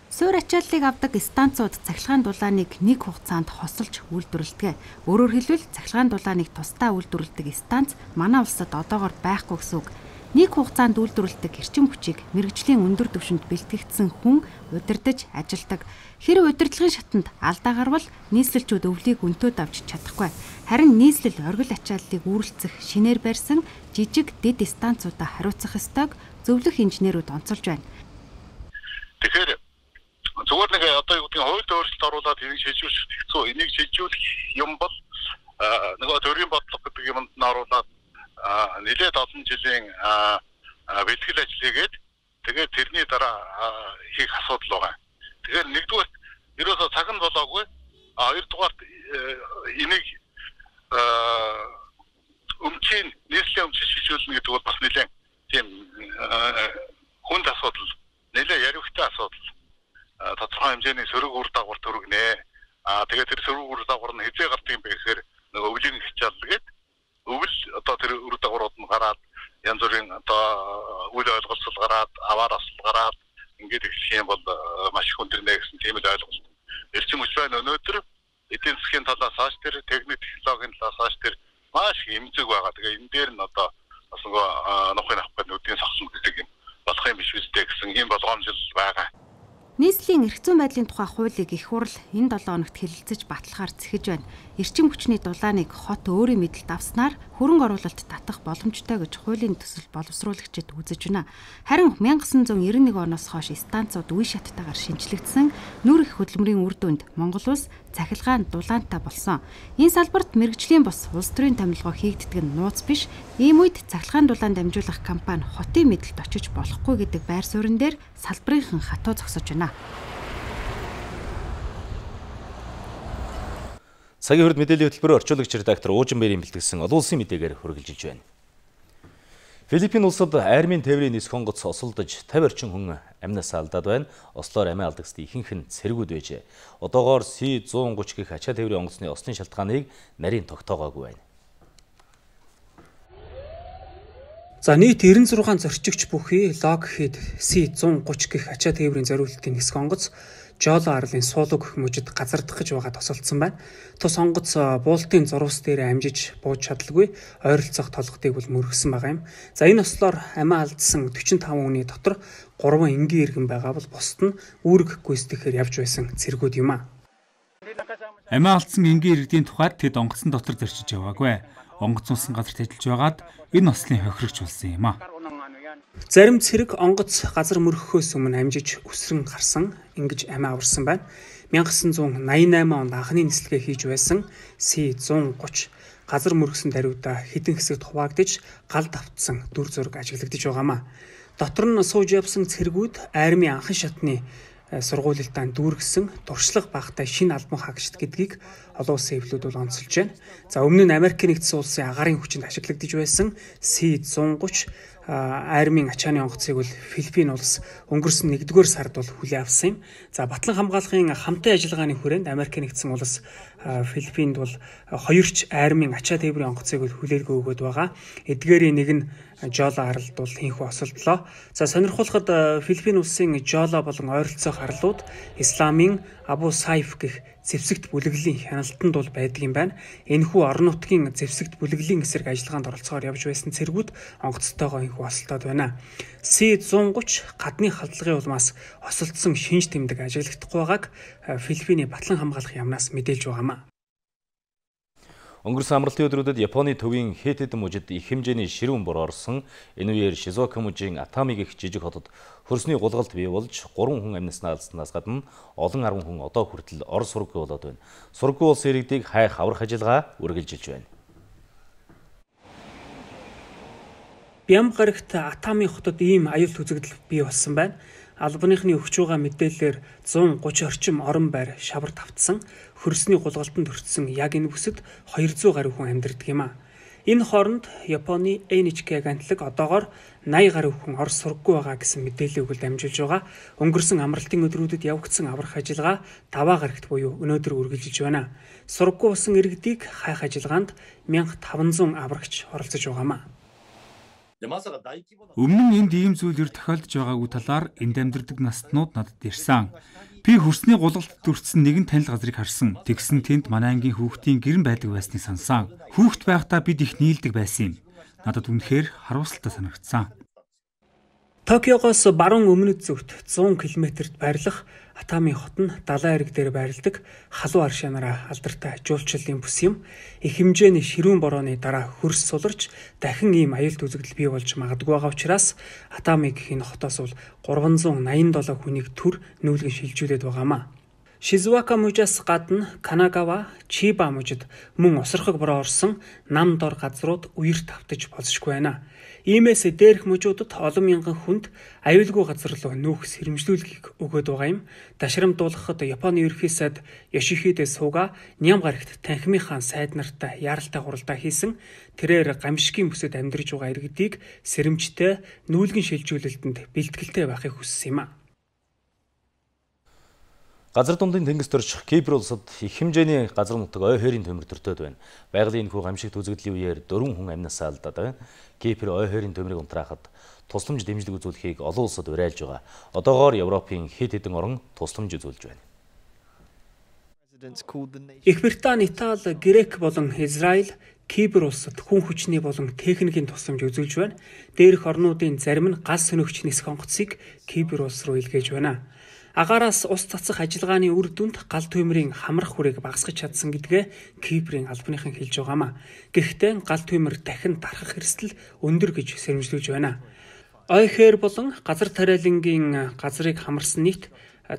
Суур ачааллыг авдаг станцууд цахилгаан дулааныг нэг хугацаанд хосолж үйлдвэрлэдэг. Өөрөөр хэлбэл цахилгаан дулааныг тусдаа үйлдвэрлэдэг станц манай улсад одоогоор байхгүй гэсэн үг. Нэг хугацаанд үйлдвэрлэдэг эрчим хүчийг мэргэжлийн өндөр түвшинд бэлтгэгдсэн хүн удирдах ажилдаг. Хэрэв удирдлагын шатанд алдаа гарвал нийслэлчүүд өвлийг өнтөөд авч чадахгүй. Харин нийслэл оргил ачааллыг үүрэлцэх шинээр барьсан жижиг дэд станцуудаа хариуцах ёстойг зөвлөх инженерүүд онцолж байна. Тэгэхээр зүгээр нэг одоо юу гэдгийг хуульд өөрчлөлт оруулаад энийг шилжүүлэх хэцүү. Энийг шилжүүлэх юм бол нөгөө төрийн бодлого гэдэг юмд нь оруулаад нэлээд олон жилийн бэлтгэл ажил хийгээд тэгээд тэрний дараа хийх асуудал байгаа. Тэгэхээр нэгдүгээр ерөөсөө цаг нь болоогүй. Хоёрдугаар энийг өмчийн нийслэлийн өмчийг шилжүүлнэ гэдэг бол бас нэлээд тийм хүнд асуудал, нэлээд яривхтай асуудал. Тодорхой хэмжээний сөрөг үр дагавар төрөгнэ. Аа тэгээд тэр сөрөг үр дагавар нь хязээ гардаг юм бэ гэхээр нөгөө өвлийн хичаал гээд өвөл одоо тэр үр дагаврууд нь гараад янз бүрийн одоо үйл ойлголцол гараад аваар асал гараад ингээд их юм бол маш их өндөрнэ гэсэн тийм л ойлголт. Эрчим хүч байна өнөөдөр эдийн засгийн талаас хойш тэр техник технологийн талаас хойш тэр маш их эмзэг байгаа. Тэгээ энэ дээр нь одоо бас нөгөө нухын авах нүдийн сахсан гэдэг юм болох юм биш үстэй гэсэн ийм болгоомжл байгаа. Нийслэлийн эрх зүйн байдлын тухай хуулийг их хурл энэ долоо хоногт хэлэлцэж баталгаар зэхэж байна. Эрчим хүчний дулааныг хот өөрийн мэдэлд авснаар хөрөнгө оруулалт татах боломжтой гэж хуулийн төсөл боловсруулагчид үзэж байна. Харин мянга девять жүз девяносто нэг оноос хойш станцууд үе шаттайгаар шинжлэгдсэн нүр их хөдөлмөрийн үр дүнд Монгол улс цахилгаан дулаантай болсон. Энэ салбарт мэргэжлийн бос улс төрийн томилгоо хийгддэг нь нууц биш. Ийм үед цахилгаан дулаан дамжуулах компани хотын мэдэлд очиж болохгүй гэдэг байр суурин дээр салбарынхан хатуу зогсож байна. Цагийн хурд мэдээллийн хөтөлбөрөөр орчуулагч редактор Уужин Бэрийн бэлтгэсэн олон улсын мэдээгээр хүргэлжилж байна. Филиппин улсад армийн тээврийн нис хонгоц осолдож тавь орчим хүн амнасаа алдаад байна. Ослоор амиа алдагсд ихэнх нь цэргүүд байжээ. Одоогоор Си one thirty гэх ачаа тээврийн онгоцны осны шалтгааныг нарийн тогтоогоогүй байна. За нийт ninety six зорчигч бүхий Lockheed Си one thirty гэх ачаа тээврийн зориулалтын нисэх онгоц Жоло арлын суулуг гэх мужид газардах гэж байгаа тосолдсон байна. Тус онгоц буултын зурвас дээр амжиж бууж чадалгүй ойролцоох толгодыг бол мөргсөн байгаа юм. За энэ ослоор амиа алдсан forty-five хүний дотор three энгийн иргэн байгаа бол бусд нь үүрэг гүйцэтгэхээр явж байсан цэргүүд юм а. Амиа алдсан энгийн иргэдийн тухайд тэд онгоцон дотор зорчиж яваагүй. Онгоцонсон газарт ажиллаж байгаад энэ ослын хохирогч болсон юм а. Зарим цэрэг онгоц газар мөргөхөөс өмнө амжиж өсрөн гарсан ингэж амиа аварсан байна. nineteen eighty-eight онд анхны нислэгээ хийж байсан Си one thirty газар мөргсөн даруйда хідэн хэсэгт хуваагдж гал давтсан дүр зураг ажиглагдж байгаамаа. Дотор нь сууж явсан цэргүүд армийн анхан шатны сургуулилтаа дүүргэсэн туршлага багтай шинэ албан хаагчид гэдгийг олон улсын хэвлүүд бол онцолж байна. За өмнө нь Америк нэгдсэн улсын агаарын хүчинд ашиглагдж байсан Си one thirty армийн ачааны онгоцыг бол Филиппин улс өнгөрсөн нэгдүгээр сард бол хүлээн авсан юм. За батлан хамгаалахын хамтын ажиллагааны хүрээнд Америк нэгдсэн улс Филиппинд бол хоёрч армийн ачаа тээврийн онгоцыг бол хүлээлгээ өгөөд байгаа. Эдгээрийн нэг нь Жоло аралд бол хинхүү осолдлоо. За сонирхолтой Филиппин улсын Жоло болон ойролцоох арлууд Исламын Абу Сайф гэх зэвсэгт бүлэглэлийн хяналтанд бол байдаг юм байна. Энэхүү орон нутгийн зэвсэгт бүлэглэлийн эсрэг ажиллагаанд оролцохоор явж байсан цэргүүд онгоцтойгоо энэхүү осолдоод байна. Си one thirty гадны халдлагын улмаас осолдсон шинж тэмдэг ажиглагдахгүй байгааг Филиппиний батлан хамгаалах яамнаас мэдээлж байгаамаа. Өнгөрсөн амралтын өдрүүдэд Японы төвийн хэд хэдэн мужид их хэмжээний ширүүн бор орсон. Энэ үеэр Шизуока мужийн Атами гэх жижиг хотод хөрсний гулгалт бий болж гурван хүн амьдснаа алдснаас гадна олон арван хүн одоо хүртэл ор сурггүй болоод байна. Сурггүй улс иргэдийг хайх аврах ажиллагаа үргэлжилж байна. Бям гарагт Атами хотод ийм аюулт үзэгдэл бий болсон байна. Албаныхны өгч байгаа мэдээлэлээр зуун гучин орчим орон байр шавар тавтсан, хөрсний гулгалтанд өртсөн яг энэ бүсэд хоёр зуун гаруй хүн амьдардаг юм а. Энэ хооронд Японы эн эйч кей агентлаг одоогоор наян гаруй хүн ор сурггүй байгаа гэсэн мэдээлэл өгөл дамжуулж байгаа. Өнгөрсөн амралтын өдрүүдэд явагдсан аврах ажиллагаа даваа гарагт буюу өнөөдөр үргэлжилж байна. Сурггүй болсон иргэдийг хайх ажиллагаанд мянга таван зуун аврагч оролцож байгаамаа. Өмнө нь энд ийм зүйлэр тохиолдож байгаагүй талаар энд амьдардаг настнууд надад ирсэн. Би хөрсний гулгалтад өртсөн нэгэн танил газрыг харсан. Тэгсэн тэнд манай ангийн хүүхдийн гэрэн байдаг байсныг сансан. Хүүхд байхдаа бид их нийлдэг байсан юм. Надад үнэхээр харуулсалтай санагдсан. Токиогоос баруун өмнөд зүгт зуун километрт байрлах Атами хот нь далайн эрэг дээр байрладаг халуун аршаанаараа алдартай жуулчлалын бүс юм. Их хэмжээний ширүүн борооны дараа хөрс суларч дахин ийм аюулт үзэгдэл бий болж магадгүй байгаа учраас Атами гэх энэ хотоос бол гурван зуун найман долоо хүнийг төр нүүлгэн шилжүүлээд байгаамаа. Шизуока мужаас гадна Канагава, Чиба мужид мөн осорхог бороо орсон нам дор газрууд үерт автаж болзошгүй байна. Иймээс дээрх мужуудад олон мянган хүнд аюулгүй газар руу нүүх сэрэмжлүүлгийг өгөөд байгаа юм. Ташрамдуулахад Японы ерөнхий сайд Ёшихиде Суга ням гарагт танхимынхаа сайд нартай яаралтай хуралдаа хийсэн. Тэрээр гамшигын бүсэд амьдарч байгаа иргэдийг сэрэмжтэй нүүлгэн шилжүүлэлтэнд бэлтгэлтэй байхыг хүссэн юм а. Газар дундын тэнгист орчих Кипр улсад их хэмжээний газар нутаг ой хойрын төмөр төртөөд байна. Байгалийн энэхүү гамшигт үзэгдлийн үеэр дөрвөн хүн амьнасаа алдаад байна. Кипр ой хойрын төмрийг унтраахад тусламж дэмжлэг үзүүлэхийг олон улсад уриалж байгаа. Одоогоор Европын хэд хэдэн орн тусламж үзүүлж байна. Их Британи, Итали, Грек болон Израиль Кипр улсад хүн хүчний болон техникийн тусламж үзүүлж байна. Дээрх орнуудын зарим нь газ сөнөгч нисэх онгоцыг Кипр улс руу илгээж байна. Агаараас ус цацах ажиллагааны үр дүнд гал төмрийн хамрах хүрээг багасгах чадсан гэдгээ Киприйн албаныхан хэлж байгаамаа. Гэхдээ гал төмөр дахин дарахх эрсдэл өндөр гэж сэрэмжлүүлж байна. Ойхоор болон газар тариалангийн газрыг хамарсан нийт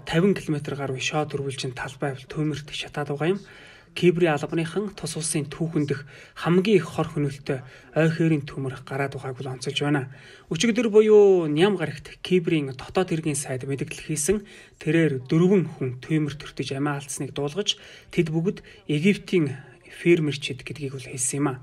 тавин километр гаруй шоод өрвөлжин талбай төмөрт шатаад байгаа юм. Киприйн албаныхан тус улсын түүхэндх хамгийн их хор хөнөөлтөй ойхоорын төмөр гараад байгааг бол онцолж байна. Өчигдөр буюу ням гарагт Киприйн дотоод хэргийн сайд мэдээлэл хийсэн тэрээр дөрвөн хүн төмөр төртөж амиа алдсныг дуулгаж тэд бүгд Египтийн фермерчид гэдгийг бол хэлсэн юм а.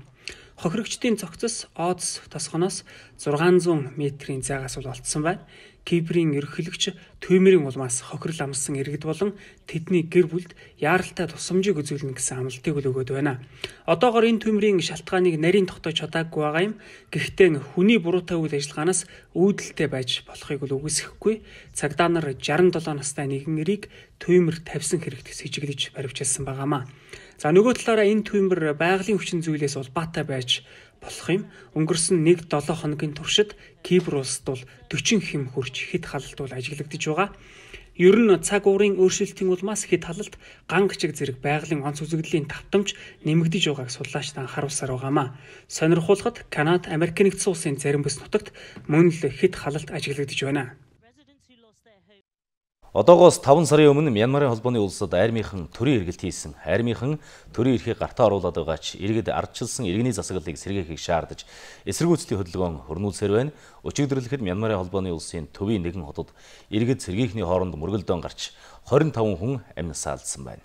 Хохирогчдын цогцос Одс тосгоноос зургаан зуун метрийн зайгаас бол олдсон байна. Киприйн ерөнхийлөгч төмөрийн улмаас хохирол амссан иргэд болон тэдний гэр бүлд яаралтай тусламжийг үзүүлнэ гэсэн амлалтыг өгөөд байна. Одоогоор энэ төмрийн шалтгааныг нарийн тогтоож чадаагүй байгаа юм. Гэхдээ хүний буруутай үйл ажиллагаанаас үүдэлтэй байж болохыг бол үгүйсэхгүй. Цагдаа нар шаран долоо настай нэгэн эрийг төмөр тавьсан хэрэгт сэжиглэж баривчилсан байгаамаа. За нөгөө талаараа энэ төмөр байгалийн хүчин зүйлээс улбаатай байж болох юм. Өнгөрсөн нэг долоо хоногийн туршид Кипр улсад бол дөрвөн хэм хурж хэд халалт бол ажиглагдж байгаа. Ер нь цаг уурын өөрчлөлтийн улмаас хэд халалт гангачиг зэрэг байгалийн онц үзэгдлийн давтамж нэмэгдэж байгааг судлаачид анхааруулсаар байгаамаа. Сонирхуулахад Канада, Америк нэгдсэн улсын зарим бүс нутагт мөн л хэд халалт ажиглагдж байна. Одоогоос таван сарын өмнө Мянмарын холбооны улсад армийнхан төрийн эргэлт хийсэн. Армийнхан төрийн эрхийг гартаа оруулаад байгаа ч иргэд ардчилсан иргэний засаглалыг сэргээхийг шаардаж эсэргүүцлийн хөдөлгөөн хөрнүүлсээр байна. Өчигдөрлөхэд Мянмарын холбооны улсын төвийн нэгэн хотод иргэд сэргийхний хооронд мөргөлдөөн гарч хорин таван хүн амьнасаа алдсан байна.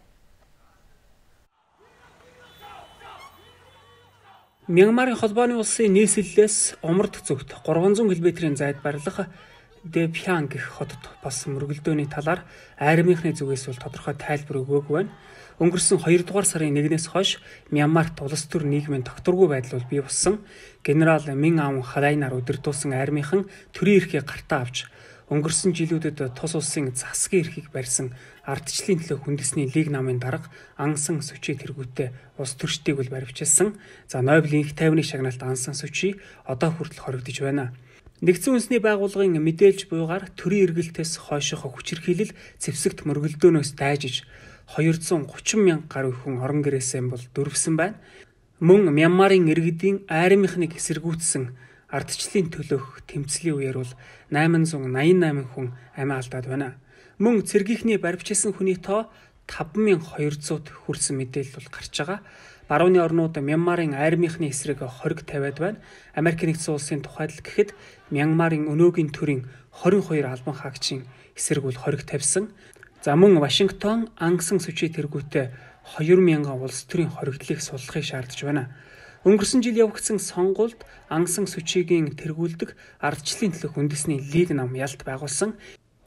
Мянмарын холбооны улсын нийслэлээс умард зүгт гурван зуун километрийн зайд барилах Дэпхян гэх хотод болсон мөргөлдөөний талаар армийнхны зүгээс бол тодорхой тайлбар өгөөгүй байна. Өнгөрсөн хоёрдугаар сарын нэгнээс хойш Мянмарт улс төр нийгмийн тогтворгүй байдал бол бий болсон. Генерал Мин Аун Халайнаар удирдуулсан армийнхан төрийн эрхийг гартаа авч өнгөрсөн жилүүдэд тус улсын засгийн эрхийг барьсан ардчлалын төлөө хүндэсний лиг намын дарга Ансан Сүчи тэргүүтээ улс төрчдийг бол баривчилсан. За Нобелийн их тайвны шагналт Ансан Сүчи одоо хүртэл хоригдож байна. Нэгдсэн үндэсний байгууллагын мэдээлж буйгаар төрийн эргэлтээс хойших хүчирхийлэл зэвсэгт мөргөлдөөнөөс дайжиж хоёр зуун гучин мянга гаруй хүн орон гэрээсээ бол дөрвсөн байна. Мөн Мянмарын иргэдийн айрмынхныг эсэргүүцсэн ардчлалын төлөөх тэмцлийн үеэр бол найман зуун найман найман хүн амиа алдаад байна. Мөн цэргийнхний баривчилсан хүний тоо таван мянган хоёр зуут хүрсэн мэдээлэл бол гарч байгаа. Барууны орнууд Мянмарын айрмынхны эсрэг хориг тавиад байна. Америк нэгдсэн улсын тухайд л гэхэд Мянмарын өнөөгийн төрийн хорин хоёр албан хаагчийн эсрэг бол хориг тавьсан. За мөн Вашингтон ангасан сүчээ тэргүүтээ хоёр мянган улс төрийн хоригдлыг суллахыг шаардж байна. Өнгөрсөн жил явагдсан сонгуульд ангасан сүчээгийн тэргүүлдэг ардчлалын төлөөх үндэсний лиг нам ялт байгуулсан.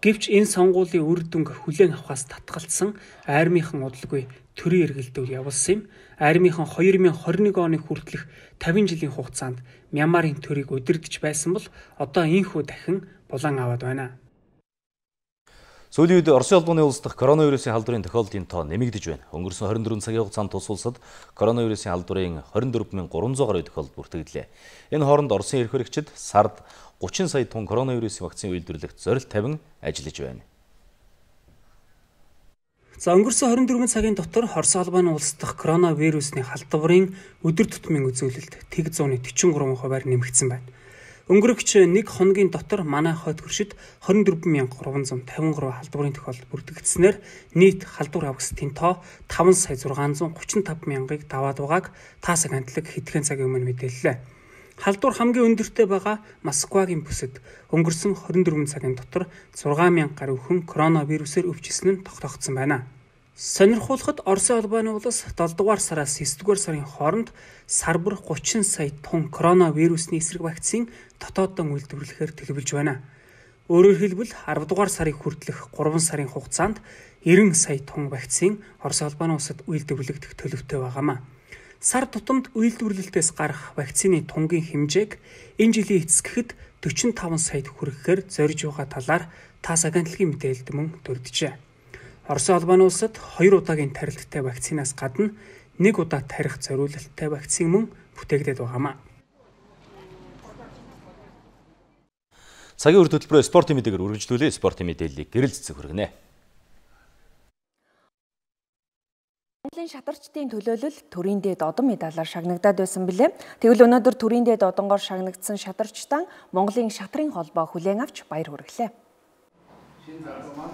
Гэвч энэ сонгуулийн үр дүнг хүлээн авахаас татгалцсан айрмынхан удалгүй төрийн эргэлдэл явуулсан юм. Айрмынхан хоёр мянган хорин нэг оны хүртэлх тавин жилийн хугацаанд Мянмарын төрийг удирдах байсан бол одоо ийхүү дахин булан аваад байна. Сүүлийн үед Оросын албаны улс дахь коронавирусын халдварын тохиолдлын тоо нэмэгдэж байна. Өнгөрсөн хорин дөрвөн цагийн хугацаанд тус улсад коронавирусын халдварын хорин дөрвөн мянган гурван зуун гаруй тохиолдол бүртгэлээ. Энэ хооронд Оросын эрх баригчид сард гучин сая тонн коронавирусын вакцины үйлдвэрлэхт зорилт тавин ажиллаж байна. За өнгөрсөн хорин дөрвөн цагийн дотор Оросын албаны улс дахь коронавирусны халдварын өдөр тутмын үзүүлэлт тэг зууны төрийн гурван хувиар нэмэгдсэн байна. Өнгөрөгч нэг хоногийн дотор манай хойд хөршид хорин дөрвөн мянган гурван зуун тавин гурван халдварын тохиолдол бүртгэгдснээр нийт халдвар авгастын тоо таван сая зургаан зуун гучин тав мянгаыг даваад байгааг таас агентлаг хэдхэн цагийн өмнө мэдээллээ. Халдвар хамгийн өндөртэй байгаа Москвагийн бүсэд өнгөрсөн хорин дөрвөн цагийн дотор зургаан мянган гаруй хүн коронавирусээр өвчсөн нь тогтоогдсон байна. Сонирхуулахад Оросын албаны улс долоо дугаар сараас эсрэг дугаар сарын хооронд сар бүр гучин сая тонн коронавирусны эсрэг вакцин дотооддон үйлдвэрлэхээр төлөвлөж байна. Өөрөөр хэлбэл арав дугаар сарын хүртэлх гурван сарын хугацаанд найман сая тонн вакцин Оросын албаны улсад үйлдвэрлэгдэх төлөвтэй байгаамаа. Сар тутамд үйлдвэрлэлтээс гарах вакцины тунгийн хэмжээг энэ жилийн эцэсгэхэд дөрвөн таван саяд хүрэхээр зорж байгаа талаар таас агентлагийн мэдээлэлд мөн дурджээ. Оросын албаны улсад хоёр удаагийн тарилттай вакцинаас гадна нэг удаа тарих зориулалттай вакцин мөн бүтээгдээд байгаамаа. Цагийн үр хөтөлбөрөөр спортын мэдээгээр үргэлжлүүлээ. Спортын мэдээллийг гэрэл цэцэг хүргэнэ. Монголын шатарчдын төлөөлөл төрийн дээд одон медалаар шагнагдаад байсан билээ. Тэгвэл өнөөдөр төрийн дээд одонгоор шагнагдсан шатарчдаа Монголын шатрын холбоо хүлээн авч баяр хүргэлээ.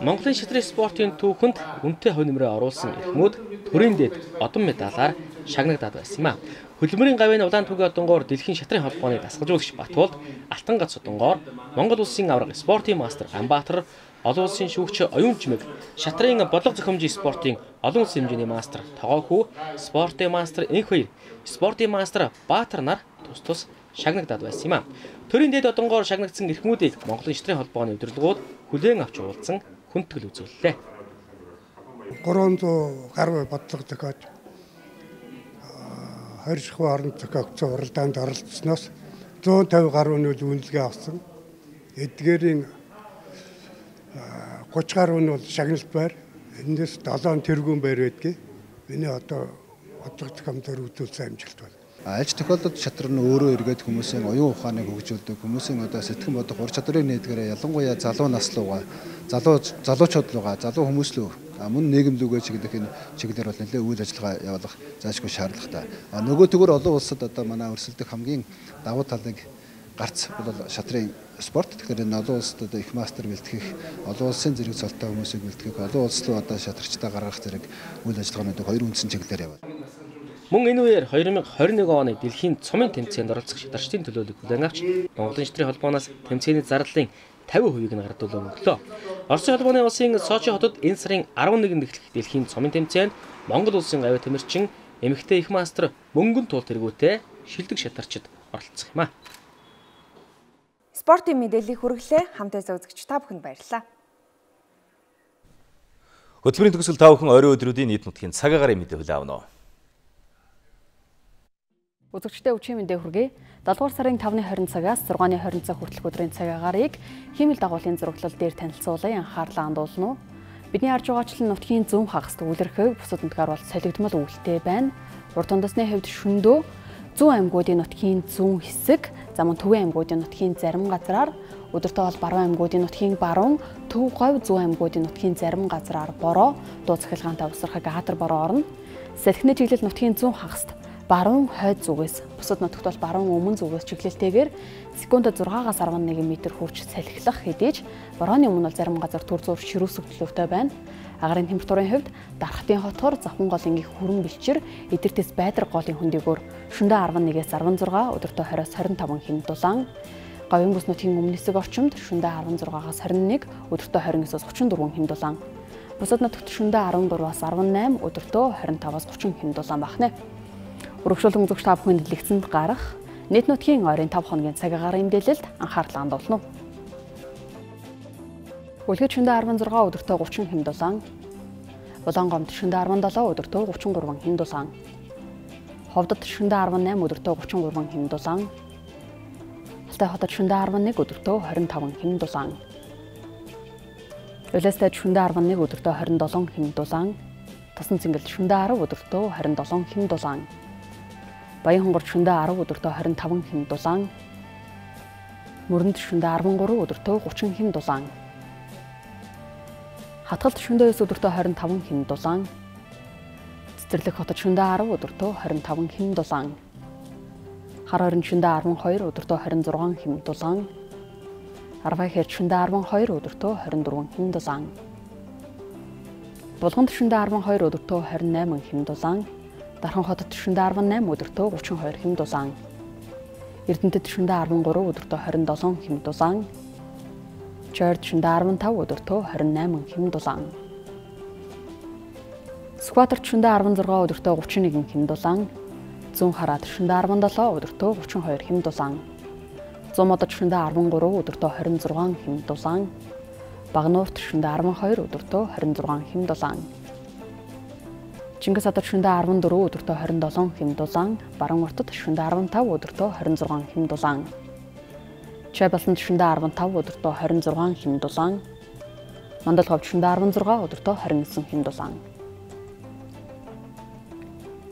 Монголын шатрын спортын түүхэнд үнэтэй хувь нэмрээ оруулсан эрхмүүд төрийн дээд одон медалаар шагнагдаад байсан юм а. Хөдөлмөрийн гавьяаны улаан түүгийн одонгоор дэлхийн шатрын холбооны дасгалжуулагч Батболд, Алтан гац одонгоор Монгол улсын авраг спортын мастер Ганбаатар, олон улсын шүүгч Оюун Чимэг, шатрын бодлого зохиомжийн спортын олон улсын хэмжээний мастер Тогоохүү, спортын мастер Энх хоёр, спортын мастер Баатар нар тус тус шагнагдаад байсан юм а. Төрийн дээд одонгоор шагнагдсан эрхмүүдийг Монголын шатрын холбооны удирдлагууд хүлээн авч уулзсан хүндэтгэл үзүүллээ. гурван зуун гаруй бодлого зохиож хоёр шахуу орон зохиогдсон уралдаанд оролцсноос зуун тавин гаруй нь үнэлгээ авсан. Эдгээрийн гучин гаруй нь бол шагналт байр. Эндээс долоон тэргүүн байр байдгийг. Миний одоо бодлого зохиомжоор үзүүлсэн амжилт байна. Альж тохиолдолд шатрын өөрөө эргээд хүмүүсийн оюун ухааныг хөгжүүлдэг, хүмүүсийн одоо сэтгэн бодох ур чадрыг нээдгээрээ ялангуяа залуу нас руугаа, залуу залуучууд руугаа, залуу хүмүүс рүү мөн нийгэм рүүгээ чиглэх энэ чиглэлээр бол нэлээд үйл ажиллагаа явуулах заашгүй шаардлагатай. А нөгөө төгөр олон улсад одоо манай өрсөлдөх хамгийн давуу талыг гарц бол шатрын спорт. Тэгэхээр энэ олон улсад одоо их мастер бэлтгэх, олон улсын зэрэг цолтой хүмүүсийг бэлтгэх, олон улс руу одоо шатрчдаа гаргах зэрэг үйл ажиллагаануудыг хоёр үндсэн чиглэлээр явуулна. Мөн энэ үеэр хоёр мянган хорин нэг оны дэлхийн цомын тэмцээнд оролцох шатрчдын төлөөлөлийг хүлээн авч Монголын шатрын холбооноос тэмцээний зарлалын тавин хувийг нь гардуулан өглөө. Оросын албаны улсын Сочи хотод энэ сарын арван нэгнд эхлэх дэлхийн цомын тэмцээнд Монгол улсын авиа тамирчин эмэгтэй их мастер мөнгөн туул тэргүүтээ шилдэг шатарчид оролцох юм а. Спортын мэдээллийг хүргэлээ. Хамтдаа үзэгч та бүхэнд баярлалаа. Хөтөлбөрийн төгсгөл та бүхэн орой өдрүүдийн нийт нутгийн цаг агарын мэдээ хүлээн авна. Үзэгчдээ өчигдөр мэдээ хүргэе. долоо дугаар сарын тавны хорин цагаас зургааны хорин цаг хүртэлх өдрийн цаг агаарыг хиймэл дагуулын зураглал дээр танилцуулан анхаарлаа хандуулна уу. Бидний харж байгаачлан нутгийн зөв хагас төвлөрөхөв бусад нутгаар бол солигдмол өвөлтэй байна. Урд тундасны хувьд шөндөө зүүн аймагуудын нутгийн зүүн хэсэг, за мөн төвийн аймагуудын нутгийн зарим газраар, өдөртөө бол баруун аймагуудын нутгийн баруун, төв говь зүүн аймагуудын нутгийн зарим газраар бороо, дуу цахилгаантай усрахаг хатар бороо орно. Салхины чиглэл нутгийн зүүн хагаст баруун хойд зүгээс, бусад нутагт бол баруун өмнө зүгээс чиглэлтэйгээр секундэд зургаагаас арван нэг метр хүрч салхилах хэдий ч борооны өмнө бол зарим газар түр зуур ширүүсэг төлөвтэй байна. Агарын температурын хувьд Дархтын хотхор Завхан голын их хүрэн бэлчээр эдэртэс Байдраг голын хөндөгөөр шөнөдөө арван нэгээс арван зургаа, өдөртөө хорионоос хорин таван хэм дулаан. Говийн бүс нутгийн өмнө хэсэг орчимд шөнөдөө арван зургаагаас хорин нэг, өдөртөө хорин нэгээс гучин дөрвөн хэм дулаан. Бусад нутагт шөнөдөө арван гураваас арван найм, өдөртөө хорин таваас гучин хэм дулаан бахна. Өргөжлөлт үзэгч та бүхэнд дэлгэцэнд гарах нийт нутгийн ойрын тавь хоногийн цаг агарын мэдээлэлд анхаарлаа хандуулна. Үлгэд шөнөдөө арван зургаа, өдөртөө гучин хэм дулаан. Улаангомд шөнөдөө арван долоо, өдөртөө гучин гурван хэм дулаан. Ховдод шөнөдөө арван найм, өдөртөө гучин гурван хэм дулаан. Алтай хотод шөнөдөө арван нэг, өдөртөө хорин таван хэм дулаан. Улаастад шөнөдөө арван нэг, өдөртөө хорин долоон хэм дулаан. Тасан цэнгэлд шөнөдөө арав, өдөртөө хорин долоон хэм дулаан. Баян хонгорд шөнөдөө арав, өдөртөө хорин таван хэм дулаан. Мөрөнд шөнөдөө арван гурав, өдөртөө гучин хэм дулаан. Хатгалд шөнөдөө эс, өдөртөө хорин таван хэм дулаан. Цэцэрлэг хотод шөнөдөө арав, өдөртөө хорин таван хэм дулаан. Хар хорин шөнөдөө арван хоёр, өдөртөө хорин зургаан хэм дулаан. Арвай хэрд шөнөдөө арван хоёр, өдөртөө хорин дөрвөн хэм дулаан. Булганд шөнөдөө арван хоёр, өдөртөө хорин найман хэм дулаан. Дархан хотод шөнөдөө арван найм, өдөртөө гучин хоёр хэм дулаан. Эрдэнэтэд шөнөдөө арван гурав, өдөртөө хорин долоон хэм дулаан. Чойрд шөнөдөө арван тав, өдөртөө хорин найман хэм дулаан. Скваторт шөнөдөө арван зургаа, өдөртөө гучин нэгэн хэм дулаан. Зүүн хараад шөнөдөө арван долоо, өдөртөө гучин хоёр хэм дулаан. Зүүн модод шөнөдөө арван гурав, өдөртөө хорин зургаан хэм дулаан. Багнуурт шөнөдөө арван хоёр, өдөртөө хорин зургаан хэм дулаан. Чингис хотод шөнөдөө арван дөрөв, өдөртөө хорин долоон хэм дулаан. Баруун уртад шөнөдөө арван тав, өдөртөө хорин зургаан хэм дулаан. Чойболсонд шөнөдөө арван тав, өдөртөө хорин зургаан хэм дулаан. Мандалговд шөнөдөө арван зургаа, өдөртөө хорин нисэн хэм дулаан.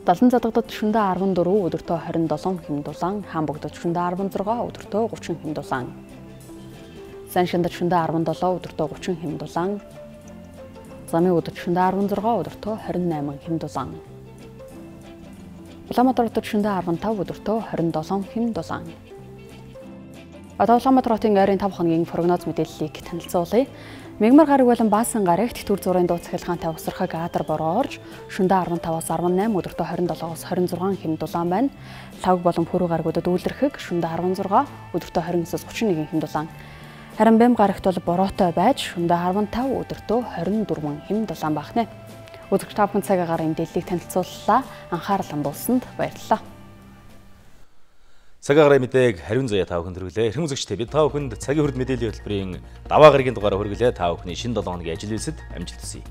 Далан задагдад шөнөдөө арван дөрөв, өдөртөө хорин долоон хэм дулаан. Хаанбогдод шөнөдөө арван зургаа, өдөртөө гучин хэм дулаан. Саншиндад шөнөдөө арван долоо, өдөртөө гучин хэм дулаан. Замын өдөрт шөнөдөө арван зургаа, өдөртөө хорин найман хэм дулаан. Улаанбаатар хотод шөнөдөө арван тав, өдөртөө хорин долоон хэм дулаан. Одоо Улаанбаатар хотын ойрын тавь хоногийн прогноз мэдээллийг танилцуулъя. Мягмар гараг болон Баасан гарагт түр зургийн дуу цахилгаантай усрахаг Адар бороо орж шөнөдөө арван таваас арван найм, өдөртөө хорин долоогоос хорин зургаан хэм дулаан байна. Лавг болон Пүрэв гарагуудад үйлэрхэг шөнөдөө арван зургаа, өдөртөө хорин нисээс гучин нэгэн хэм дулаан. Харин Бэм гарагт бол бороотой байж шөнөдөө арван тав, өдөртөө хорин дөрвөн хэм дулаан багна. Үзэгч та бүхэн цаг агарын мэдээллийг танилцууллаа. Анхаарал хандуулсанд баярлалаа. Цаг агарын мэдээг хариун заяа та бүхэнд хүргэлээ. Эрхэм үзэгчдээ бид та бүхэнд цагийн хүрд мэдээллийн хөтөлбөрийн даваа гарагийн дугаараар хүргэлээ. Та бүхний шинэ долоо хоногийн ажил үйлсэд амжилт хүсье.